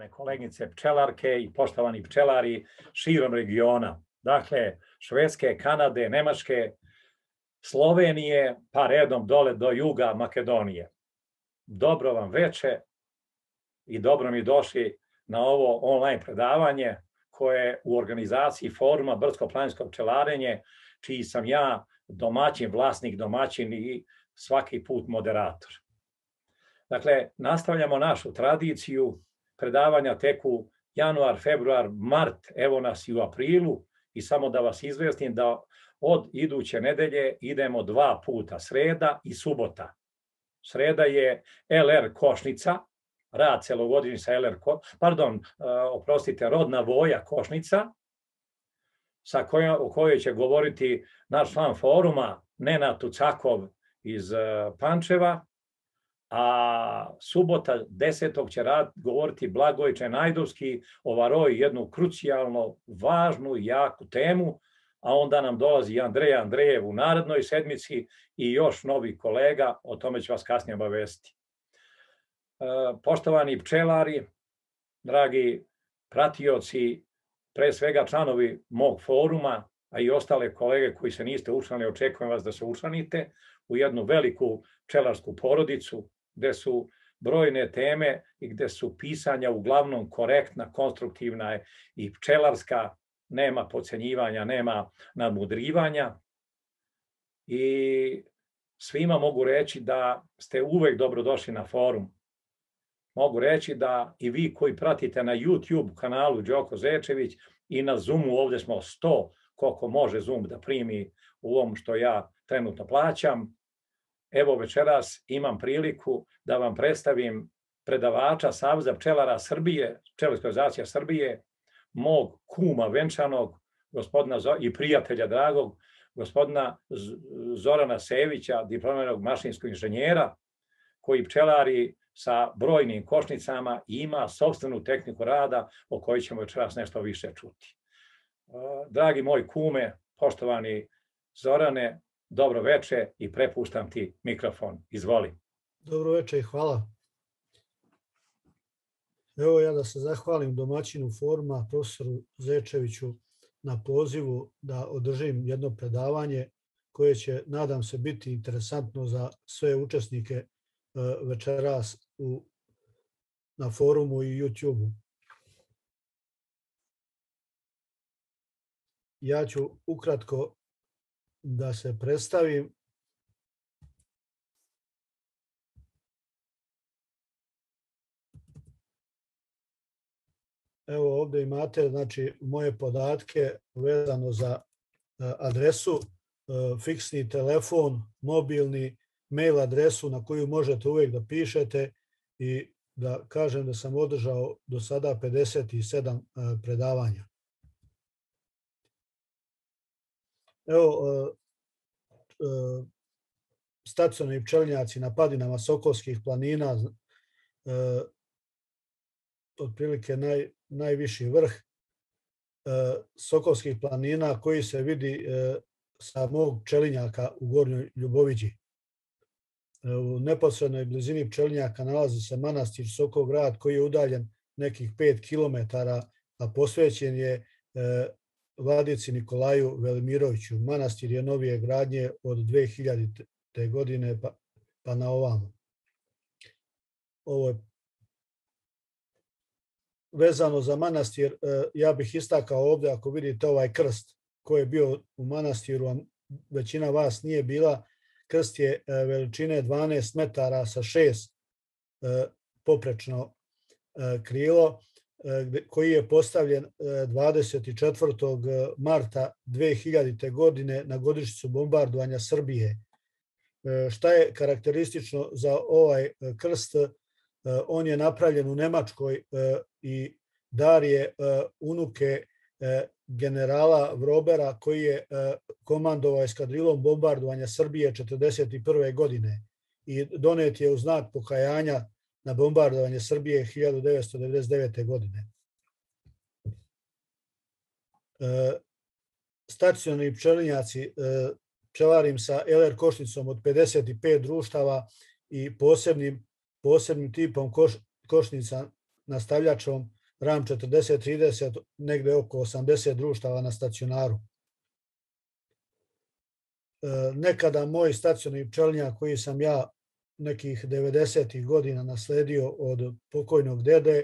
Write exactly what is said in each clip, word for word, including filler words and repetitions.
poštovane koleginice pčelarke i poštovani pčelari širom regiona. Dakle, Švedske, Kanade, Nemačke, Slovenije, pa redom dole do juga Makedonije. Dobro vam veče i dobro mi došli na ovo online predavanje koje je u organizaciji Foruma Brdsko-planinsko pčelarenje, čiji sam ja domaćin, vlasnik, domaćin i svaki put moderator. Dakle, nastavljamo našu tradiciju, predavanja teku januar, februar, mart, evo nas i u aprilu i samo da vas izvestim da od iduće nedelje idemo dva puta, sreda i subota. Sreda je el er Košnica, rad celogodišnji sa el er, pardon, oprostite, rodna voja Košnica, sa kojom, o kojoj će govoriti naš član foruma Nenad Tucakov iz Pančeva, a subota desetog će rad govoriti Blagoj Čenajdovski o varoj, jednu krucijalno važnu i jaku temu, a onda nam dolazi Andreja Andrejev u narednoj sedmici i još novih kolega, o tome ću vas kasnije obavestiti. Poštovani pčelari, dragi pratioci, pre svega članovi mog foruma, a i ostale kolege koji se niste učlanili, očekujem vas da se učlanite u jednu veliku pčelarsku porodicu, gde su brojne teme i gde su pisanja uglavnom korektna, konstruktivna i pčelarska, nema podcenjivanja, nema nadmudrivanja. I svima mogu reći da ste uvek dobrodošli na forum. Mogu reći da i vi koji pratite na YouTube kanalu Đoko Zečević i na Zoomu, ovde smo sto, koliko može Zoom da primi u ovom što ja trenutno plaćam. Evo večeras imam priliku da vam predstavim predavača Saveza pčelara Srbije, Pčelarska organizacija Srbije, mog kuma venčanog, gospodina i prijatelja dragog, gospodina Zorana Sevića, diplomiranog mašinskog inženjera, koji pčelari sa brojnim košnicama i ima sopstvenu tehniku rada o kojoj ćemo večeras nešto više čuti. Dragi moj kume, poštovani Zorane, dobro veče i prepuštam ti mikrofon. Izvoli. Dobro veče i hvala. Evo ja da se zahvalim domaćinu foruma, profesoru Zečeviću, na pozivu da održim jedno predavanje koje će, nadam se, biti interesantno za sve učesnike večeras u, na forumu i YouTube-u. Ja ću ukratko da se predstavim. Evo ovdje imate znači, moje podatke vezano za adresu, fiksni telefon, mobilni, mail adresu na koju možete uvijek da pišete i da kažem da sam održao do sada pedeset sedam predavanja. Evo, stacionarni pčelinjaci na padinama Sokolskih planina, otprilike naj, najviši vrh Sokolskih planina koji se vidi sa mog pčelinjaka u Gornjoj Ljuboviđi. U neposrednoj blizini pčelinjaka nalazi se manastir Sokograd koji je udaljen nekih pet kilometara, a posvećen je vladici Nikolaju Velimiroviću. Manastir je novije gradnje od dve hiljadite. godine pa, pa na ovamo. Ovo je vezano za manastir. Ja bih istakao ovdje, ako vidite ovaj krst koji je bio u manastiru, a većina vas nije bila, krst je veličine dvanaest metara sa šest poprečno krilo, koji je postavljen dvadeset četvrtog marta dve hiljadite. godine na godišnjicu bombardovanja Srbije. Šta je karakteristično za ovaj krst? On je napravljen u Nemačkoj i dar je unuke generala Vrobera koji je komandovao eskadrilom bombardovanja Srbije četrdeset prve. godine i donet je u znak pokajanja na bombardovanje Srbije hiljadu devetsto devedeset devete. godine. Stacionarni pčelinjaci, pčelarim sa el er košnicom od pedeset pet društava i posebnim, posebnim tipom koš, košnica nastavljačom RAM četrdeset trideset, negde oko osamdeset društava na stacionaru. Nekada moj stacionarni pčelinjak koji sam ja nekih devedesetih godina nasledio od pokojnog dede,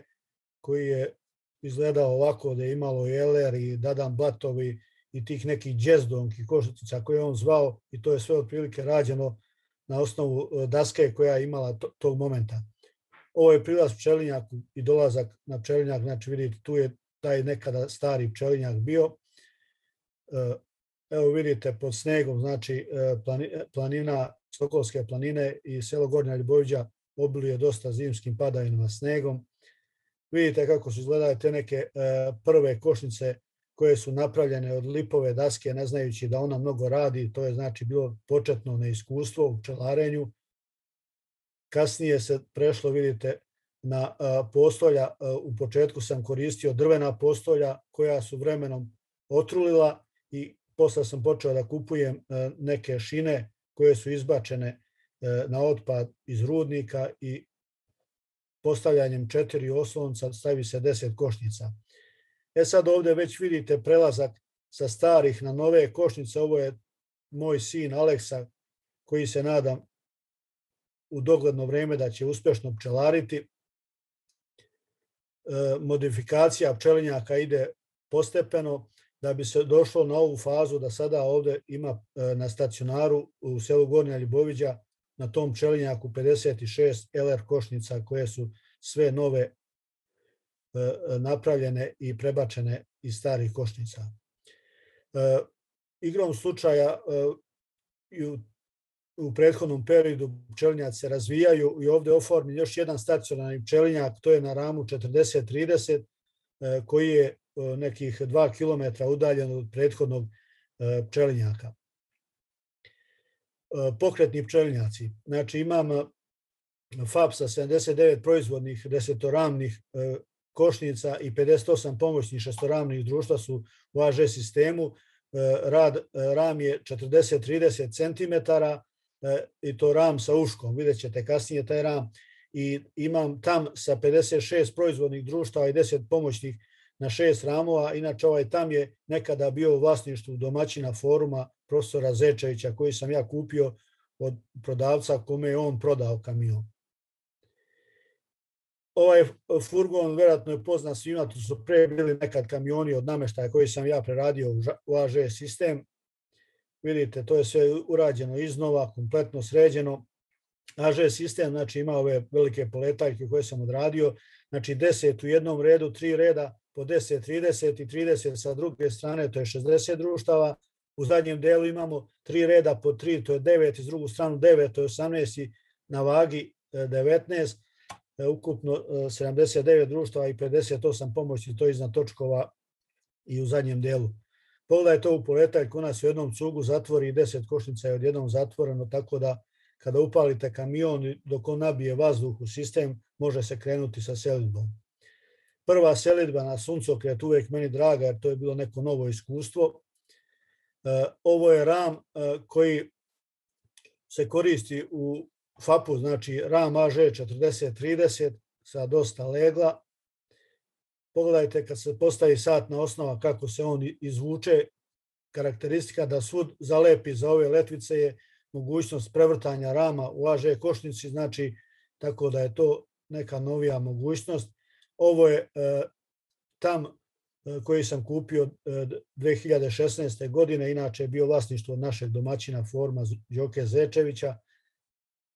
koji je izgledao ovako, da je imalo i eler i dadan blatovi i tih nekih džezdonki koštica koje je on zvao, i to je sve otprilike rađeno na osnovu daske koja je imala tog momenta. Ovo je prilaz pčelinjaku i dolazak na pčelinjak, znači vidite tu je taj nekada stari pčelinjak bio. Evo vidite pod snegom, znači planina, Sokolske planine i selo Gornja Ljuboviđa obiluje dosta zimskim padavinama snegom. Vidite kako su izgledale te neke prve košnice koje su napravljene od lipove daske, ne znajući da ona mnogo radi. To je znači bilo početno neiskustvo u pčelarenju. Kasnije se prešlo, vidite, na postolja. U početku sam koristio drvena postolja koja su vremenom otrulila i posle sam počeo da kupujem neke šine koje su izbačene na otpad iz rudnika i postavljanjem četiri oslonca stavi se deset košnica. E sad ovdje već vidite prelazak sa starih na nove košnice. Ovo je moj sin Aleksa koji se nadam u dogledno vreme da će uspešno pčelariti. Modifikacija pčelinjaka ide postepeno da bi se došlo na ovu fazu da sada ovdje ima na stacionaru u selu Gornja Ljuboviđa na tom pčelinjaku pedeset šest L R košnica koje su sve nove napravljene i prebačene iz starih košnica. Igrom slučaja u prethodnom periodu pčelinjaci se razvijaju i ovdje je oformljen još jedan stacionarni pčelinjak, to je na ramu četrdeset trideset koji je nekih dva kilometra udaljen od prethodnog pčelinjaka. Pokretni pčelinjaci. Znači imam F A P sa sedamdeset devet proizvodnih desetoramnih košnica i pedeset osam pomoćnih šestoramnih društva su u A Ž sistemu. Ram je četrdeset trideset centimetara i to ram sa uškom. Vidjet ćete kasnije taj ram. I imam tam sa pedeset šest proizvodnih društava i deset pomoćnih na šest ramova. Inače ovaj tam je nekada bio u vlasništvu domaćina foruma profesora Zečevića koji sam ja kupio od prodavca kome je on prodao kamion. Ovaj furgon vjerojatno je poznat svima, tu su pre bili nekad kamioni od nameštaja koji sam ja preradio u A Ž sistem. Vidite, to je sve urađeno iznova, kompletno sređeno. A Ž sistem znači ima ove velike poletaljke koje sam odradio, znači deset u jednom redu, tri reda po deset, trideset i trideset sa druge strane, to je šezdeset društava. U zadnjem delu imamo tri reda po tri, to je devet, iz drugu stranu devet, to je osamnaest i na vagi devetnaest, ukupno sedamdeset devet društava i pedeset osam pomoći, to je iznad točkova i u zadnjem delu. Pogledaj to u poletaljku, ona se u jednom cugu zatvori i deset košnica je odjednom zatvoreno, tako da kada upalite kamion, dok on nabije vazduh u sistem, može se krenuti sa selidbom. Prva selidba na suncokret uvijek meni draga, jer to je bilo neko novo iskustvo. Ovo je ram koji se koristi u F A P-u, znači ram A Ž četrdeset trideset sa dosta legla. Pogledajte kad se postavi satna osnova kako se on izvuče. Karakteristika da svud zalepi za ove letvice je mogućnost prevrtanja rama u A Ž košnici, znači tako da je to neka novija mogućnost. Ovo je tam koji sam kupio dve hiljade šesnaeste. godine, inače je bio vlasništvo našeg domaćina forma Đoke Zečevića.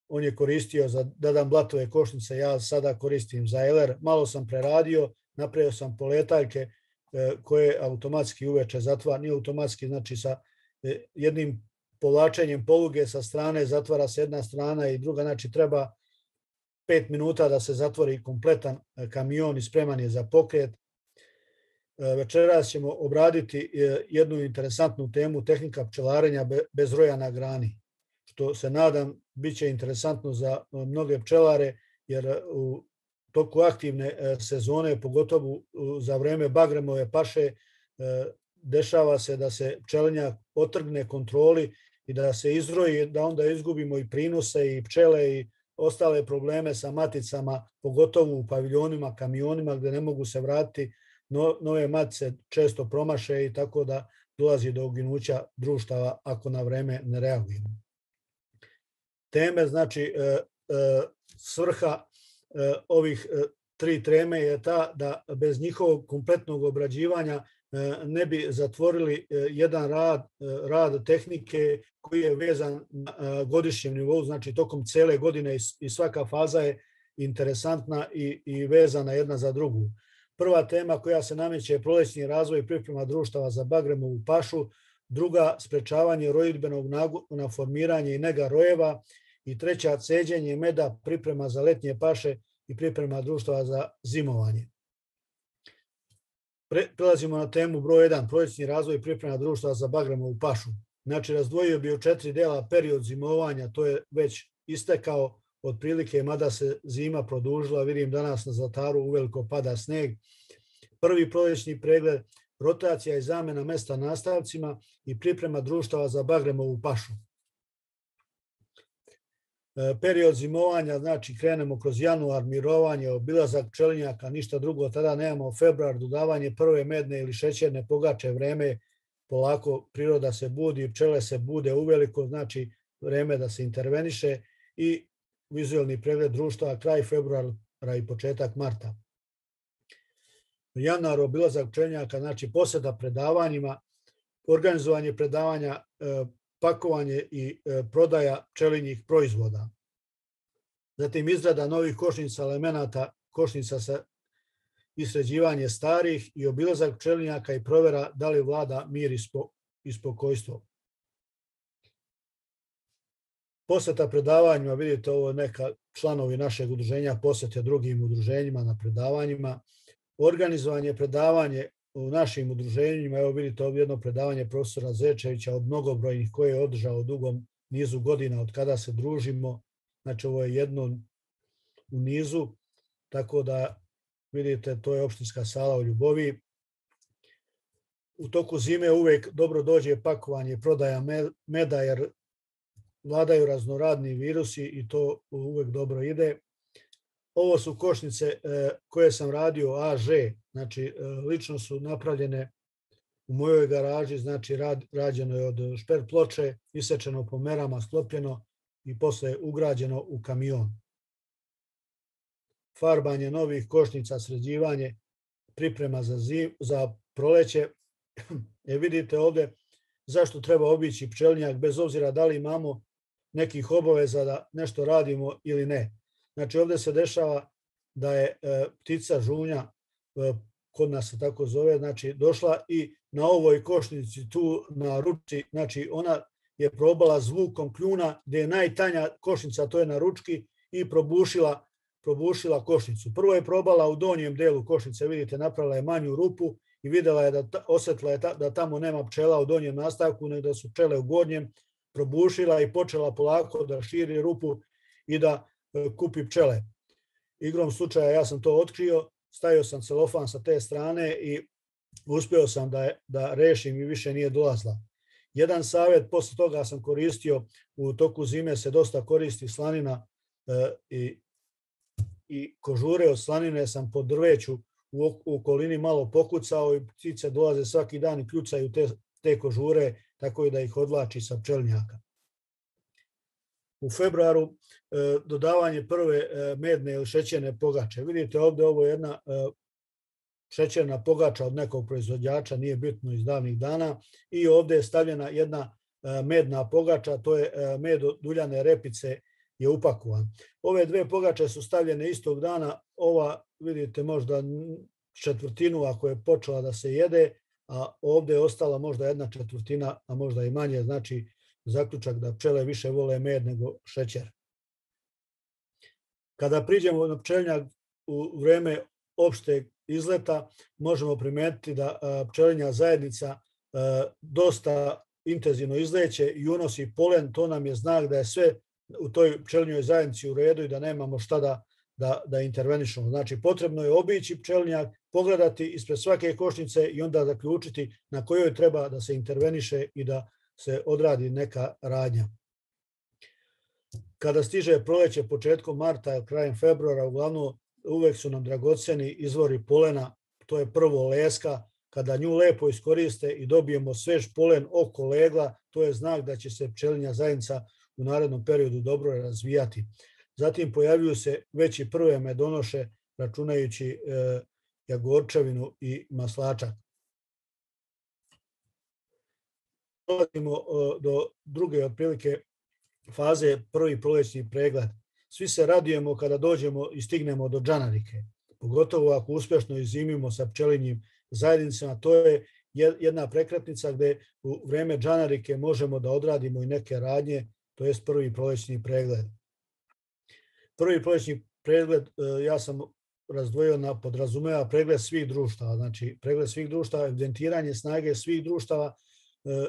On je koristio za dadan blatove košnice, ja sada koristim za L R. Malo sam preradio, napravio sam poletaljke koje automatski uveče zatvara, nije automatski, znači sa jednim povlačenjem poluge sa strane zatvara se jedna strana i druga, znači treba pet minuta da se zatvori kompletan kamion i spreman je za pokret. Večeras ćemo obraditi jednu interesantnu temu, tehnika pčelarenja bez roja na grani, što se nadam bit će interesantno za mnoge pčelare, jer u toku aktivne sezone, pogotovo za vreme bagremove paše, dešava se da se pčelinjak otrgne kontroli i da se izroji, da onda izgubimo i prinose i pčele i ostale probleme sa maticama, pogotovo u paviljonima, kamionima gdje ne mogu se vratiti, no, nove matice često promaše i tako da dolazi do uginuća društava ako na vreme ne reagujemo. Teme, znači e, e, svrha e, ovih e, tri teme je ta da bez njihovog kompletnog obrađivanja ne bi zatvorili jedan rad, rad tehnike koji je vezan na godišnjem nivou, znači tokom cele godine i svaka faza je interesantna i, i vezana jedna za drugu. Prva tema koja se nameće je prolećni razvoj i priprema društava za bagremovu pašu, druga sprečavanje rojidbenog na formiranje i nega rojeva i treća ceđenje meda, priprema za letnje paše i priprema društava za zimovanje. Pre, prelazimo na temu broj jedan, prolećni razvoj i priprema društva za bagremovu pašu. Znači, razdvojio bi u četiri dela period zimovanja, to je već istekao otprilike, mada se zima produžila, vidim danas na Zlataru uveliko pada sneg. Prvi prolećni pregled, rotacija i zamena mesta nastavcima i priprema društava za bagremovu pašu. Period zimovanja, znači krenemo kroz januar, mirovanje, obilazak pčelinjaka, ništa drugo, tada nemamo februar, dodavanje prve medne ili šećerne pogače, vreme, polako priroda se budi, pčele se bude uveliko, znači vreme da se interveniše i vizualni pregled društva, kraj februara i početak marta. Januar, obilazak pčelinjaka, znači posjeta predavanjima, organizovanje predavanja, pakovanje i prodaja pčelinjih proizvoda. Zatim izrada novih košnica elemenata, košnica sa i sređivanje starih i obilazak pčelinjaka i provjera da li vlada mir i spokojstvo. Posjeta predavanjima, vidite ovo neka članovi našeg udruženja posjete drugim udruženjima na predavanjima. Organizovanje predavanje u našim udruženjima, evo vidite ovdje jedno predavanje profesora Zečevića od mnogobrojnih koje je održao u dugom nizu godina od kada se družimo. Znači ovo je jedno u nizu, tako da vidite to je opštinska sala u Ljubovi. U toku zime uvek dobro dođe pakovanje i prodaja meda jer vladaju raznoradni virusi i to uvek dobro ide. Ovo su košnice koje sam radio A Ž, znači lično su napravljene u mojoj garaži, znači rađeno je od šper ploče, isečeno po merama, sklopljeno i posle ugrađeno u kamion. Farbanje novih košnica, sređivanje, priprema za, zim, za proleće. E vidite ovdje zašto treba obići pčelinjak bez obzira da li imamo nekih obaveza da nešto radimo ili ne. Znači ovdje se dešava da je e, ptica žunja, e, kod nas se tako zove, znači došla i na ovoj košnici tu na ručci, znači ona je probala zvukom kljuna gdje je najtanja košnica, to je na ručki i probušila, probušila košnicu. Prvo je probala u donjem delu košnice, vidite napravila je manju rupu i videla je da osjetila je ta, da tamo nema pčela u donjem nastavku, nego da su pčele u gornjem, probušila i počela polako da širi rupu i da kupi pčele. Igrom slučaja ja sam to otkrio, stavio sam celofan sa te strane i uspio sam da, da rešim i više nije dolazla. Jedan savjet, posle toga sam koristio, u toku zime se dosta koristi slanina e, i, i kožure od slanine sam po drveću u, u okolini malo pokucao i ptice dolaze svaki dan i kljucaju te, te kožure, tako i da ih odvlači sa pčelinjaka. U februaru e, dodavanje prve e, medne ili šećerne pogače. Vidite ovdje ovo je jedna e, šećerna pogača od nekog proizvođača, nije bitno iz davnih dana. I ovdje je stavljena jedna e, medna pogača, to je e, med od uljane repice je upakovan. Ove dve pogače su stavljene istog dana, ova vidite možda četvrtinu ako je počela da se jede, a ovdje je ostala možda jedna četvrtina, a možda i manje, znači zaključak da pčele više vole med nego šećer. Kada priđemo na pčelinjak u vreme opšteg izleta, možemo primetiti da pčelinja zajednica dosta intenzivno izleće i unosi polen, to nam je znak da je sve u toj pčelinjoj zajednici u redu i da nemamo šta da, da, da intervenišemo. Znači potrebno je obići pčelinjak, pogledati ispred svake košnice i onda zaključiti na kojoj treba da se interveniše i da se odradi neka radnja. kada stiže proleće početkom marta, krajem februara, uglavnom uvek su nam dragoceni izvori polena, to je prvo leska, kada nju lepo iskoriste i dobijemo svež polen oko legla, to je znak da će se pčelinja zajednica u narednom periodu dobro razvijati. Zatim pojavljuju se veći prve medonoše, računajući e, jagorčevinu i maslačak. Dolazimo e, do druge otprilike faze, prvi prolećni pregled. Svi se radujemo kada dođemo i stignemo do džanarike, pogotovo ako uspešno izimimo sa pčelinjim zajednicama. To je jedna prekretnica gde u vreme džanarike možemo da odradimo i neke radnje, to je prvi prolećni pregled. Prvi prolećni pregled ja sam razdvojio na podrazumeva pregled svih društava, znači pregled svih društava, evidentiranje snage svih društava,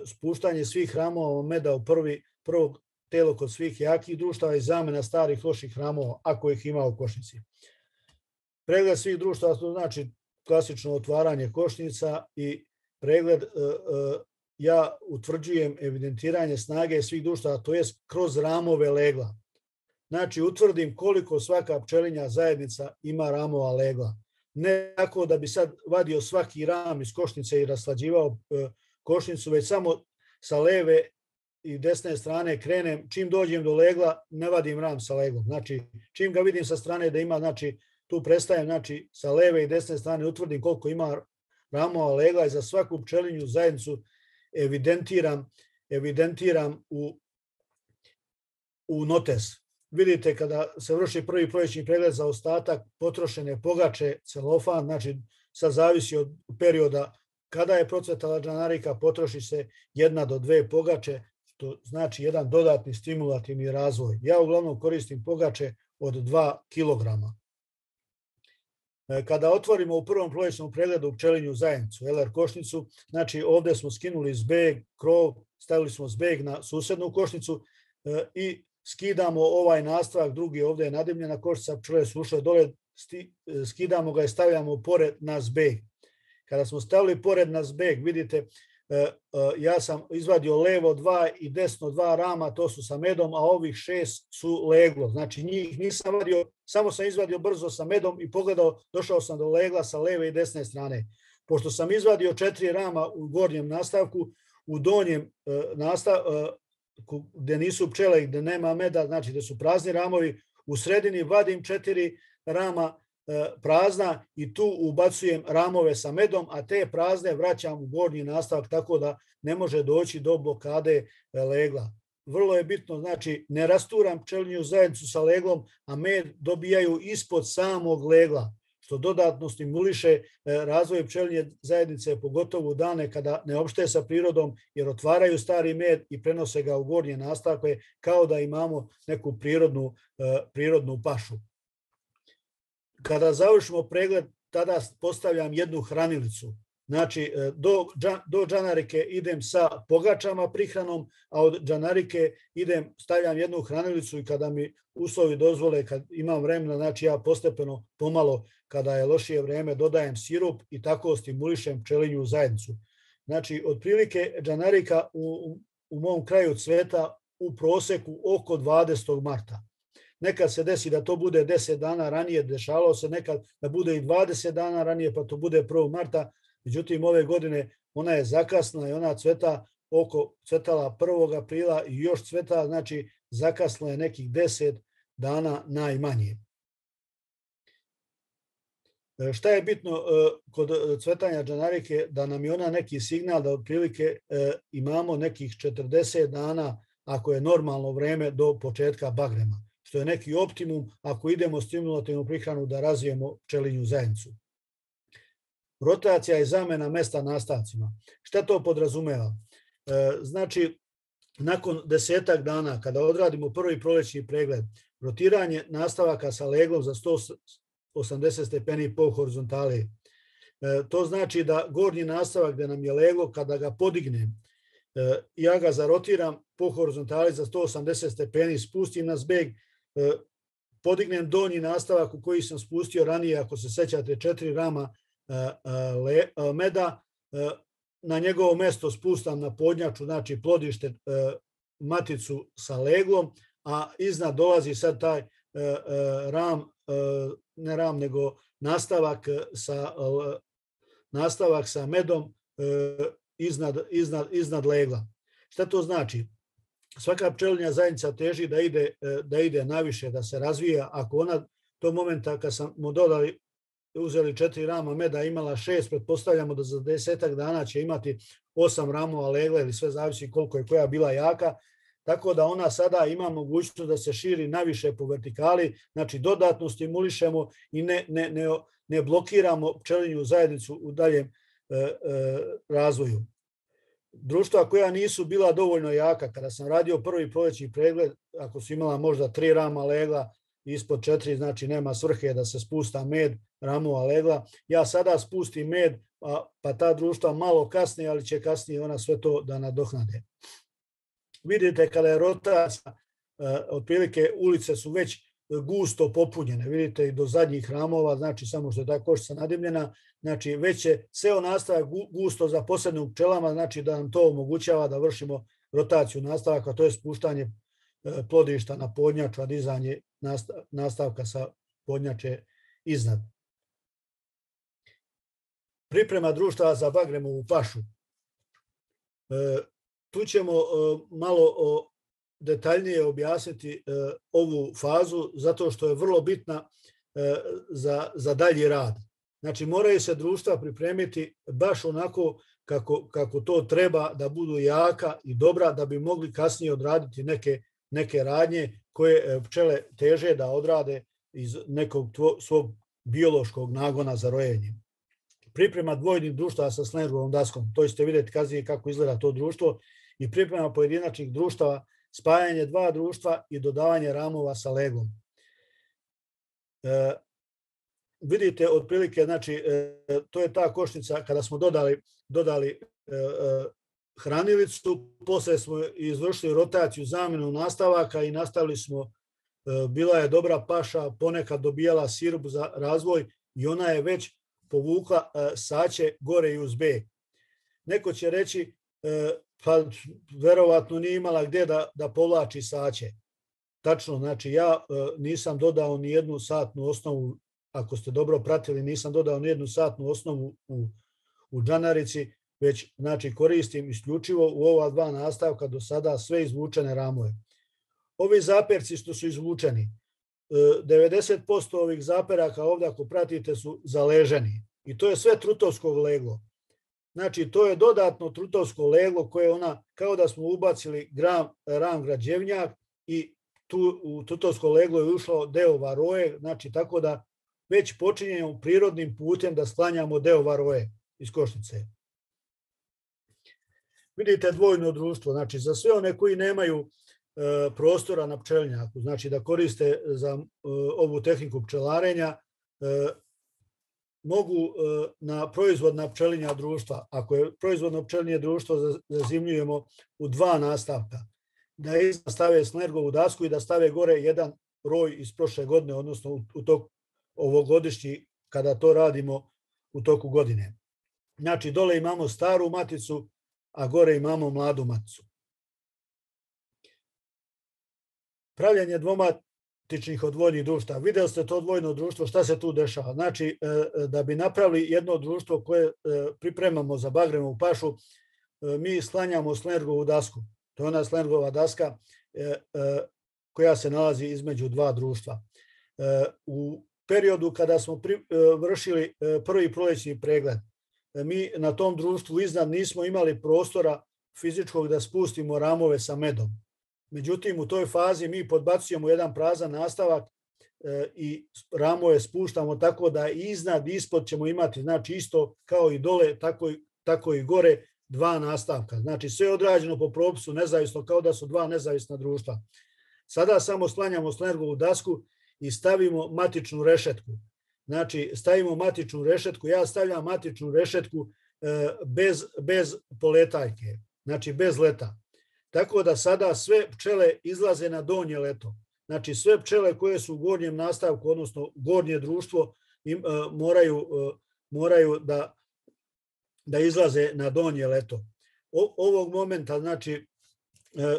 spuštanje svih hramova meda u prvi, prvog telo kod svih jakih društava i zamena starih loših hramova, ako ih ima u košnici. Pregled svih društava, to znači klasično otvaranje košnica i pregled, ja utvrđujem evidentiranje snage svih društava, to je kroz ramove legla. Znači, utvrdim koliko svaka pčelinja zajednica ima ramova legla. Ne tako da bi sad vadio svaki ram iz košnice i raslađivao košnicu, već samo sa leve i desne strane krenem, čim dođem do legla, ne vadim ram sa leglom. Znači, čim ga vidim sa strane da ima, znači, tu prestajem, znači, sa leve i desne strane utvrdim koliko ima ramova legla i za svaku pčelinju zajednicu evidentiram, evidentiram u, u notes. Vidite, kada se vrši prvi prolećni pregled za ostatak potrošene pogače, celofan, znači sad zavisi od perioda kada je procvetala džanarika, potroši se jedna do dve pogače, što znači jedan dodatni stimulativni razvoj. Ja uglavnom koristim pogače od dva kilograma. Kada otvorimo u prvom prolećnom pregledu pčelinju zajednicu, L R košnicu, znači ovdje smo skinuli zbeg, krov, stavili smo zbeg na susednu košnicu i skidamo ovaj nastavak, drugi ovdje je nadimljena košnica, pčele su ušle dole, skidamo ga i stavljamo pored na zbeg. Kada smo stavili pored na zbeg, vidite, ja sam izvadio levo dva i desno dva rama, to su sa medom, a ovih šest su leglo. Znači njih nisam vadio, samo sam izvadio brzo sa medom i pogledao, došao sam do legla sa leve i desne strane. Pošto sam izvadio četiri rama u gornjem nastavku, u donjem nastavku, gde nisu pčele i gde nema meda, znači gde su prazni ramovi, u sredini vadim četiri rama prazna i tu ubacujem ramove sa medom, a te prazne vraćam u gornji nastavak tako da ne može doći do blokade legla. Vrlo je bitno, znači ne rasturam pčelinju zajednicu sa leglom, a med dobijaju ispod samog legla, što dodatno stimuliše razvoj pčelinje zajednice, pogotovo u dane kada ne opšte sa prirodom, jer otvaraju stari med i prenose ga u gornje nastavke kao da imamo neku prirodnu, prirodnu pašu. Kada završimo pregled, tada postavljam jednu hranilicu. Znači, do, do džanarike idem sa pogačama prihranom, a od džanarike idem, stavljam jednu hranilicu i kada mi uslovi dozvole, kad imam vremena, znači ja postepeno, pomalo, kada je lošije vreme, dodajem sirup i tako stimulišem pčelinju zajednicu. Znači, otprilike džanarika u, u mom kraju cveta u proseku oko dvadesetog marta. Nekad se desi da to bude deset dana ranije, dešavalo se nekad da bude i dvadeset dana ranije, pa to bude prvog marta. Međutim, ove godine ona je zakasna i ona cveta oko cvetala prvog aprila i još cveta, znači zakasnila je nekih deset dana najmanje. Šta je bitno kod cvetanja džanarike? Da nam je ona neki signal da otprilike imamo nekih četrdeset dana ako je normalno vreme do početka bagrema, što je neki optimum ako idemo stimulativnu prihranu da razvijemo pčelinju zajednicu. Rotacija i zamena mesta nastavcima. Šta to podrazumeva? Znači, nakon desetak dana, kada odradimo prvi prolećni pregled, rotiranje nastavaka sa leglom za sto osamdeset stepeni po horizontali. To znači da gornji nastavak gde nam je leglo, kada ga podignem, ja ga zarotiram po horizontali za sto osamdeset stepeni, spustim na zbeg, podignem donji nastavak u koji sam spustio ranije, ako se sećate, četiri rama meda, na njegovo mesto spustam na podnjaču, znači plodište, maticu sa leglom, a iznad dolazi sad taj ram, ne ram, nego nastavak sa, nastavak sa medom iznad, iznad, iznad legla. Šta to znači? Svaka pčelinja zajednica teži da ide, da ide naviše, da se razvija. Ako ona to momenta kad sam mu dodali, uzeli četiri rama meda, imala šest, pretpostavljamo da za desetak dana će imati osam ramova legla ili sve zavisi koliko je koja bila jaka. Tako da ona sada ima mogućnost da se širi naviše po vertikali, znači dodatno stimulišemo i ne, ne, ne, ne blokiramo pčelinju zajednicu u daljem e, e, razvoju. Društva koja nisu bila dovoljno jaka, kada sam radio prvi prolećni pregled, ako su imala možda tri rama legla, ispod četiri, znači nema svrhe da se spusta med, ramova legla. Ja sada spustim med, pa, pa ta društva malo kasnije, ali će kasnije ona sve to da nadohnade. Vidite kada je rotacija, otprilike ulice su već gusto popunjene, vidite i do zadnjih ramova, znači samo što je ta koščica nadimljena, znači već je seo nastavak gusto zaposleni u pčelama, znači da nam to omogućava da vršimo rotaciju nastavaka, to je spuštanje plodišta na podnjaču, a dizanje nastavka sa podnjače iznad. Priprema društva za bagremovu pašu. Tu ćemo malo detaljnije objasniti ovu fazu, zato što je vrlo bitna za, za dalji rad. Znači, moraju se društva pripremiti baš onako kako, kako to treba, da budu jaka i dobra, da bi mogli kasnije odraditi neke, neke radnje koje pčele teže da odrade iz nekog tvo, svog biološkog nagona za rojenje. Priprema dvojnih društava sa slengovom daskom, to ćete vidjeti kasnije kako izgleda to društvo, i priprema pojedinačnih društava, spajanje dva društva i dodavanje ramova sa leglom. E, vidite, otprilike, znači, e, to je ta košnica kada smo dodali, dodali e, e, hranilicu, posle smo izvršili rotaciju, zamjenu nastavaka i nastavili smo, e, bila je dobra paša, ponekad dobijala sirup za razvoj i ona je već povukla e, saće gore i uz B. Neko će reći, e, pa verovatno nije imala gdje da, da povlači saće. Tačno, znači ja e, nisam dodao ni jednu satnu osnovu, ako ste dobro pratili, nisam dodao ni jednu satnu osnovu u, u džanarici, već znači koristim isključivo u ova dva nastavka do sada sve izvučene ramove. Ovi zaperci što su izvučeni, e, devedeset posto ovih zaperaka ovdje ako pratite su zaleženi i to je sve trutovskog leglo. Znači, to je dodatno trutovsko leglo koje ona, kao da smo ubacili gram, ram građevnjak i tu u trutovsko leglo je ušlo deo varoje, znači tako da već počinjemo prirodnim putem da sklanjamo deo varoje iz košnice. Vidite dvojno društvo, znači za sve one koji nemaju e, prostora na pčelinjaku, znači da koriste za e, ovu tehniku pčelarenja, e, mogu na proizvodna pčelinja društva, ako je proizvodno pčelinje društvo zazimljujemo u dva nastavka, da iznad stave snergovu dasku i da stave gore jedan roj iz prošle godine, odnosno u toku ovogodišnji, kada to radimo u toku godine. Znači, dole imamo staru maticu, a gore imamo mladu maticu. Pravljanje dvoma tičnih odvojnih društva. Vidjeli ste to dvojno društvo, šta se tu dešava? Znači, da bi napravili jedno društvo koje pripremamo za bagremovu pašu, mi sklanjamo slergovu dasku. To je ona slergova daska koja se nalazi između dva društva. U periodu kada smo vršili prvi prolećni pregled, mi na tom društvu iznad nismo imali prostora fizičkog da spustimo ramove sa medom. Međutim, u toj fazi mi podbacujemo jedan prazan nastavak e, i ramove spuštamo tako da iznad, ispod ćemo imati, znači isto kao i dole, tako, tako i gore, dva nastavka. Znači sve je odrađeno po propisu nezavisno, kao da su dva nezavisna društva. Sada samo sklanjamo slergovu dasku i stavimo matičnu rešetku. Znači stavimo matičnu rešetku, ja stavljam matičnu rešetku e, bez, bez poletaljke, znači bez leta. Tako da sada sve pčele izlaze na donje leto. Znači sve pčele koje su u gornjem nastavku, odnosno gornje društvo, im, uh, moraju, uh, moraju da, da izlaze na donje leto. O, ovog momenta, znači,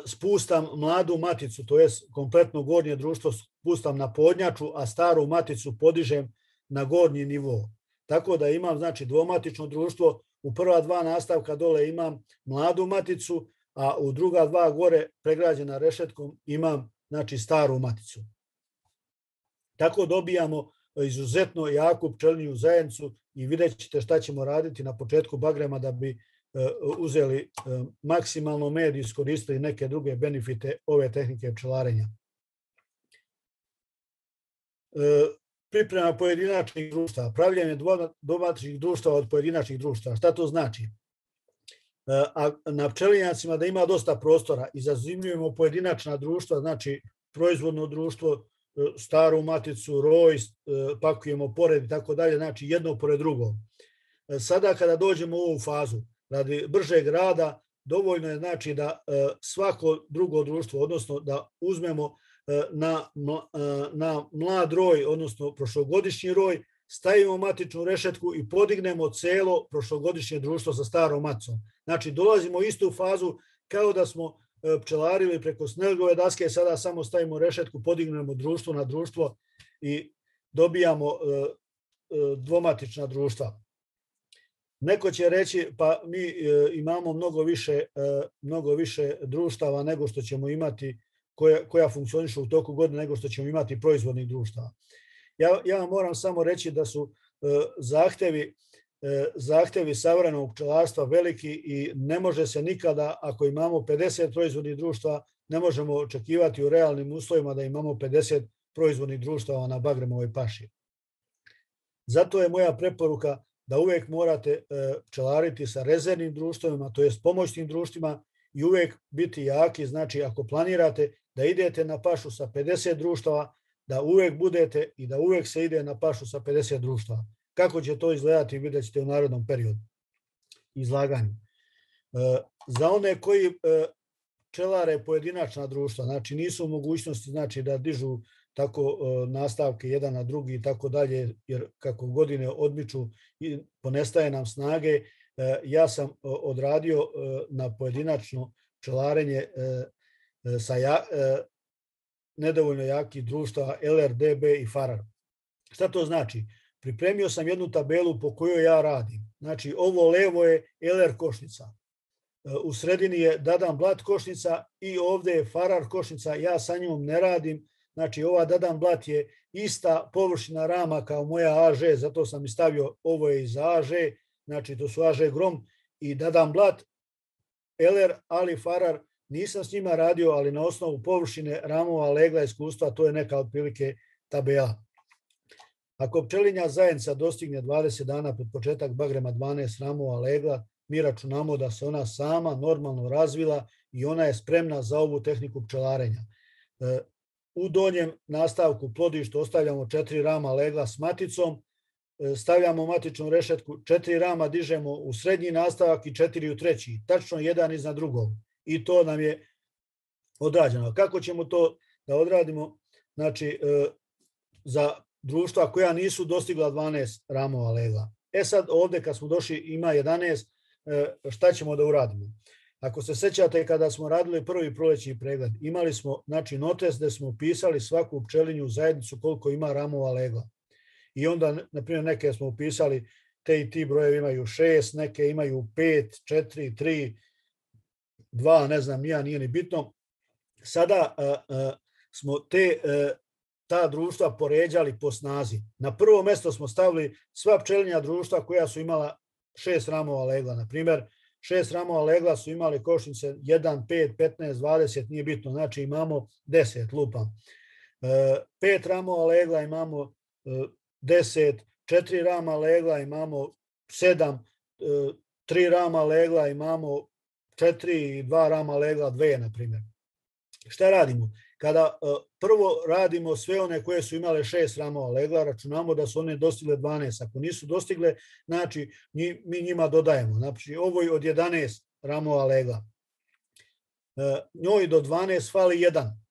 spustam mladu maticu, to je kompletno gornje društvo spustam na podnjaču, a staru maticu podižem na gornji nivo. Tako da imam znači dvomatično društvo, u prva dva nastavka dole imam mladu maticu, a u druga dva gore pregrađena rešetkom imam znači staru maticu. Tako dobijamo izuzetno jaku pčelinju zajednicu i vidjet ćete šta ćemo raditi na početku bagrema da bi uzeli maksimalno med i iskoristili neke druge benefite ove tehnike pčelarenja. Priprema pojedinačnih društava, pravljanje dvomatičnih društava od pojedinačnih društava. Šta to znači? A na pčelinjacima da ima dosta prostora i zazimljujemo pojedinačna društva, znači proizvodno društvo, staru maticu, roj, pakujemo pored i tako dalje, znači jedno pored drugog. Sada kada dođemo u ovu fazu, radi bržeg rada, dovoljno je znači da svako drugo društvo, odnosno da uzmemo na, na mlad roj, odnosno prošlogodišnji roj, stavimo matičnu rešetku i podignemo celo prošlogodišnje društvo sa starom maticom. Znači dolazimo u istu fazu kao da smo pčelarili preko snegove daske, sada samo stavimo rešetku, podignemo društvo na društvo i dobijamo dvomatična društva. Neko će reći pa mi imamo mnogo više, mnogo više društava nego što ćemo imati, koja, koja funkcionišu u toku godine nego što ćemo imati proizvodnih društava. Ja, ja vam moram samo reći da su zahtevi, zahtevi savremenog pčelarstva veliki i ne može se nikada, ako imamo pedeset proizvodnih društva, ne možemo očekivati u realnim uslovima da imamo pedeset proizvodnih društava na bagremovoj paši. Zato je moja preporuka da uvek morate pčelariti sa rezervnim društvima, to jest pomoćnim društvima i uvek biti jaki, znači ako planirate da idete na pašu sa pedeset društava, da uvek budete i da uvek se ide na pašu sa pedeset društava. Kako će to izgledati vidjet ćete u narednom periodu izlaganju. Za one koji pčelare pojedinačna društva, znači nisu u mogućnosti znači, da dižu tako nastavke jedan na drugi i tako dalje, jer kako godine odmiču i ponestaje nam snage, ja sam odradio na pojedinačno pčelarenje sa ja, nedovoljno jakih društava L R, D B i Farar. Šta to znači? Pripremio sam jednu tabelu po kojoj ja radim. Znači ovo levo je L R košnica, u sredini je Dadan Blat košnica i ovdje je Farar košnica, ja sa njom ne radim. Znači ova Dadan Blat je ista površina rama kao moja A Ž, zato sam i stavio ovo je iz A Ž, znači to su A Ž Grom i Dadan Blat, L R, ali Farar nisam s njima radio, ali na osnovu površine ramova, legla, iskustva, to je neka otprilike tabela. Ako pčelinja zajednica dostigne dvadeset dana pred početak bagrema dvanaest ramova legla, mi računamo da se ona sama normalno razvila i ona je spremna za ovu tehniku pčelarenja. U donjem nastavku plodištu ostavljamo četiri rama legla s maticom, stavljamo matičnu rešetku, četiri rama dižemo u srednji nastavak i četiri u treći, tačno jedan iznad drugog. I to nam je odrađeno. Kako ćemo to da odradimo? Znači, za društva koja nisu dostigla dvanaest ramova legla. E sad ovdje kad smo došli ima jedanaest, šta ćemo da uradimo? Ako se sećate kada smo radili prvi prolećni pregled, imali smo znači, notes gde smo upisali svaku pčelinju zajednicu koliko ima ramova legla. I onda, na primjer, neke smo upisali, te i ti brojevi imaju šest, neke imaju pet, četiri, tri, dva, ne znam, ja nije ni bitno. Sada a, a, smo te a, ta društva poređali po snazi. Na prvo mjesto smo stavili sva pčelinja društva koja su imala šest ramova legla. Na primjer, šest ramova legla su imali košnice jedan, pet, petnaest, dvadeset, nije bitno, znači imamo deset, lupam. pet ramova legla imamo deset, četiri rama legla imamo sedam, tri rama legla imamo četiri i dva rama legla dve, na primjer. Šta radimo? Kada prvo radimo sve one koje su imale šest ramova legla, računamo da su one dostigle dvanaest. Ako nisu dostigle, znači mi njima dodajemo. Znači ovoj od jedanaest ramova legla. Njoj do dvanaest fali jedan.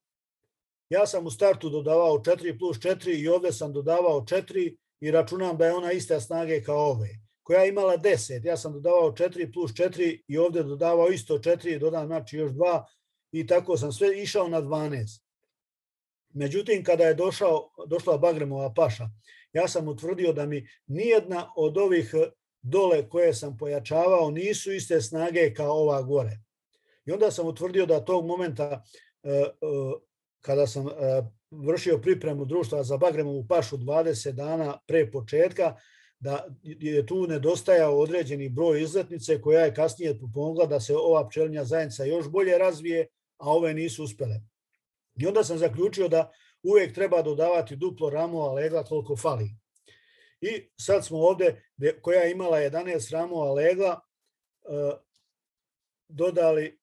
Ja sam u startu dodavao četiri plus četiri i ovdje sam dodavao četiri i računam da je ona ista snage kao ove. Koja je imala deset, ja sam dodavao četiri plus četiri i ovdje dodavao isto četiri i dodam znači još dva i tako sam sve išao na dvanaest. Međutim, kada je došao, došla Bagremova paša, ja sam utvrdio da mi nijedna od ovih dole koje sam pojačavao nisu iste snage kao ova gore. I onda sam utvrdio da tog momenta kada sam vršio pripremu društva za Bagremovu pašu dvadeset dana pre početka, da je tu nedostajao određeni broj izletnice koja je kasnije pomogla da se ova pčelinja zajednica još bolje razvije, a ove nisu uspele. I onda sam zaključio da uvijek treba dodavati duplo ramova legla koliko fali. I sad smo ovdje, koja je imala jedanaest ramova legla, dodali,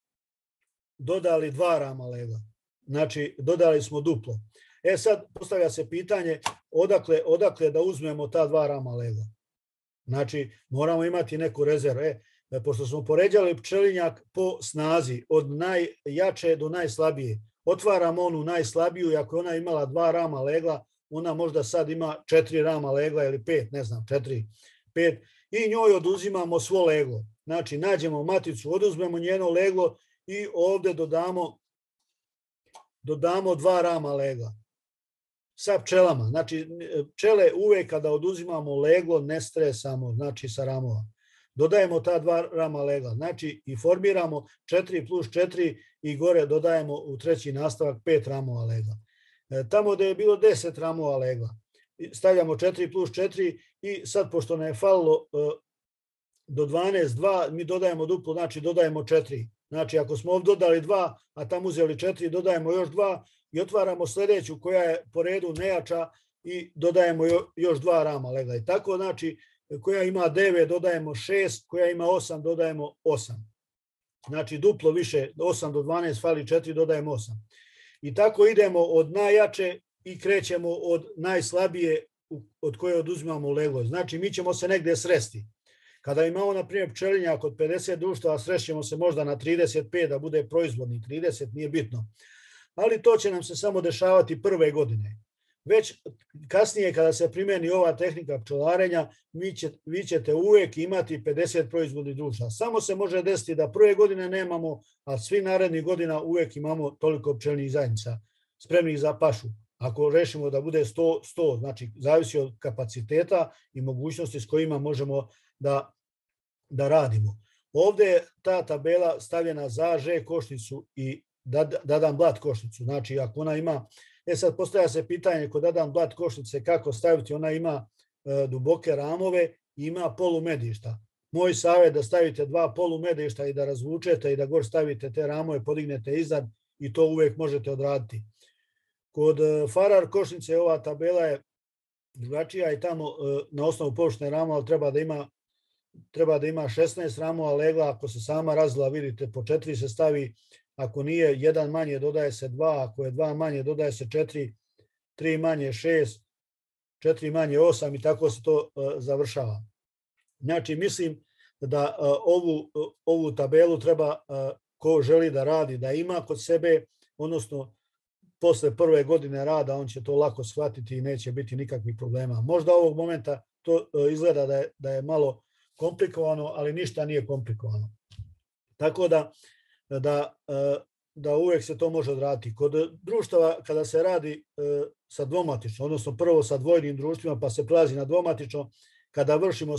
dodali dva rama legla. Znači, dodali smo duplo. E sad, postavlja se pitanje odakle, odakle da uzmemo ta dva rama legla. Znači, moramo imati neku rezervu. E, pošto smo poređali pčelinjak po snazi, od najjače do najslabije, otvaramo onu najslabiju i ako je ona imala dva rama legla, ona možda sad ima četiri rama legla ili pet, ne znam, četiri, pet, i njoj oduzimamo svo leglo. Znači, nađemo maticu, oduzmemo njeno leglo i ovdje dodamo, dodamo dva rama legla sa pčelama. Znači, pčele uvek kada oduzimamo leglo ne stresamo, znači sa ramova. Dodajemo ta dva rama legla, znači i formiramo četiri plus četiri i gore dodajemo u treći nastavak pet ramova legla. Tamo gde je bilo deset ramova legla, stavljamo četiri plus četiri i sad pošto nam je falilo do dvanaest, dva, mi dodajemo duplo, znači dodajemo četiri. Znači ako smo ovdje dodali dva, a tamo uzeli četiri, dodajemo još dva i otvaramo sljedeću koja je po redu nejača i dodajemo još dva rama legla. I tako znači koja ima devet dodajemo šest, koja ima osam dodajemo osam. Znači duplo više, osam do dvanaest fali četiri, dodajemo osam. I tako idemo od najjače i krećemo od najslabije od koje oduzimamo leglo. Znači mi ćemo se negdje sresti. Kada imamo, na primjer, pčelinjak od pedeset društava, srećemo se možda na trideset pet da bude proizvodni, trideset nije bitno. Ali to će nam se samo dešavati prve godine. Već kasnije kada se primjeni ova tehnika pčelarenja, vi, će, vi ćete uvijek imati pedeset proizvodnih društava. Samo se može desiti da prve godine nemamo, a svi narednih godina uvijek imamo toliko pčelnih zajednica spremnih za pašu. Ako rešimo da bude sto, sto, znači zavisi od kapaciteta i mogućnosti s kojima možemo da, da radimo. Ovdje je ta tabela stavljena za Ž košnicu i Dadan blat košnicu. Znači ako ona ima, e sad postavlja se pitanje kod Dadan blat košnice kako staviti, ona ima e, duboke ramove i ima polumedišta. Moj savjet da stavite dva polumedišta i da razvučete i da gore stavite te ramove, podignete iznad i to uvijek možete odraditi. Kod farar košnice ova tabela je drugačija i tamo na osnovu površine ramova treba da ima treba da ima šesnaest ramova legla, ako se sama razila, vidite, po četiri se stavi, ako nije jedan manje dodaje se dva, ako je dva manje dodaje se četiri, tri manje šest, četiri manje osam i tako se to završava. Znači mislim da ovu, ovu tabelu treba ko želi da radi da ima kod sebe, odnosno posle prve godine rada on će to lako shvatiti i neće biti nikakvih problema. Možda ovog momenta to izgleda da je, da je malo komplikovano, ali ništa nije komplikovano. Tako da, da, da uvijek se to može odraditi. Kod društava kada se radi sa dvomatično, odnosno prvo sa dvojnim društvima pa se prelazi na dvomatično, kada vršimo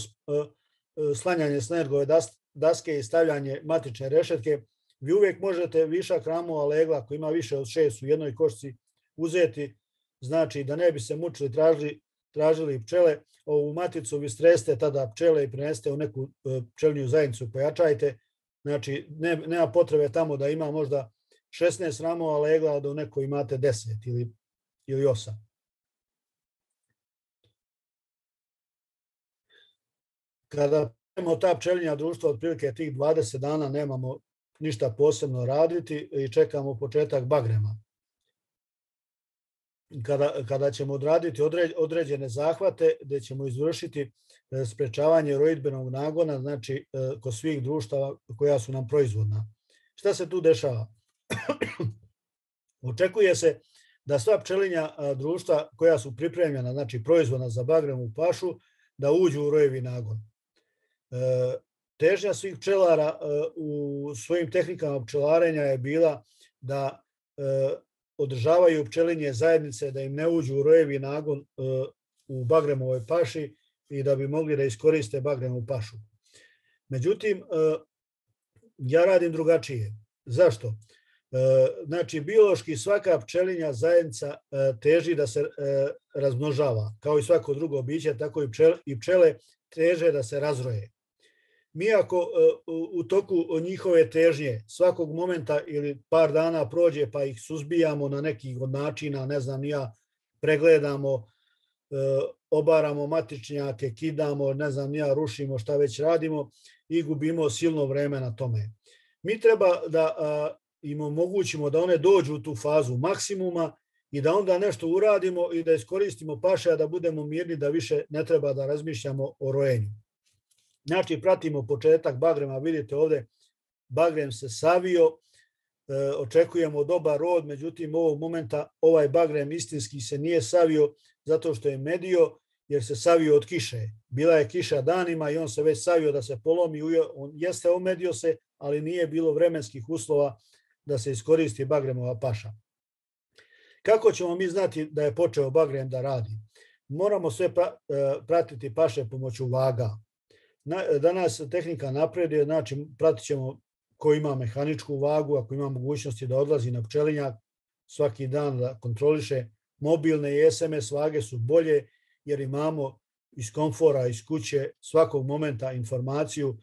slanjanje snergove daske i stavljanje matične rešetke, vi uvijek možete višak ramova legla ako ima više od šest u jednoj košci uzeti, znači da ne bi se mučili, tražili, tražili pčele, ovu maticu vi streste tada pčele i prenesete u neku pčelinju zajednicu, pojačajte, znači ne, nema potrebe tamo da ima možda šesnaest ramova legla, a da u nekoj imate deset ili, ili osam. Kada imamo ta pčelinja društva, otprilike tih dvadeset dana nemamo ništa posebno raditi i čekamo početak bagrema. Kada, kada ćemo odraditi određene zahvate gdje ćemo izvršiti sprečavanje rojidbenog nagona, znači kod svih društava koja su nam proizvodna. Šta se tu dešava? Očekuje se da sva pčelinja društva koja su pripremljena, znači proizvodna za bagremovu pašu, da uđu u rojevi nagon. Težnja svih pčelara u svojim tehnikama pčelarenja je bila da održavaju pčelinje zajednice, da im ne uđu u rojevi nagon u bagremovoj paši i da bi mogli da iskoriste bagremovu pašu. Međutim, ja radim drugačije. Zašto? Znači, biološki svaka pčelinja zajednica teži da se razmnožava. Kao i svako drugo biće, tako i pčele teže da se razroje. Mi ako u toku njihove težnje svakog momenta ili par dana prođe pa ih suzbijamo na nekih od načina, ne znam, ja pregledamo, obaramo matičnjake, kidamo, ne znam, ja rušimo, šta već radimo i gubimo silno vreme na tome. Mi treba da im omogućimo da one dođu u tu fazu maksimuma i da onda nešto uradimo i da iskoristimo paše, a da budemo mirni, da više ne treba da razmišljamo o rojenju. Znači, pratimo početak bagrema, vidite ovde, bagrem se savio, očekujemo dobar rod, međutim, ovog momenta ovaj bagrem istinski se nije savio zato što je medio, jer se savio od kiše. Bila je kiša danima i on se već savio da se polomi, on jeste omedio se, ali nije bilo vremenskih uslova da se iskoristi bagremova paša. Kako ćemo mi znati da je počeo bagrem da radi? Moramo sve pratiti paše pomoću vaga. Danas tehnika napreduje, znači pratit ćemo ko ima mehaničku vagu, ako ima mogućnosti da odlazi na pčelinjak svaki dan da kontroliše. Mobilne i es em es vage su bolje jer imamo iz komfora, iz kuće svakog momenta informaciju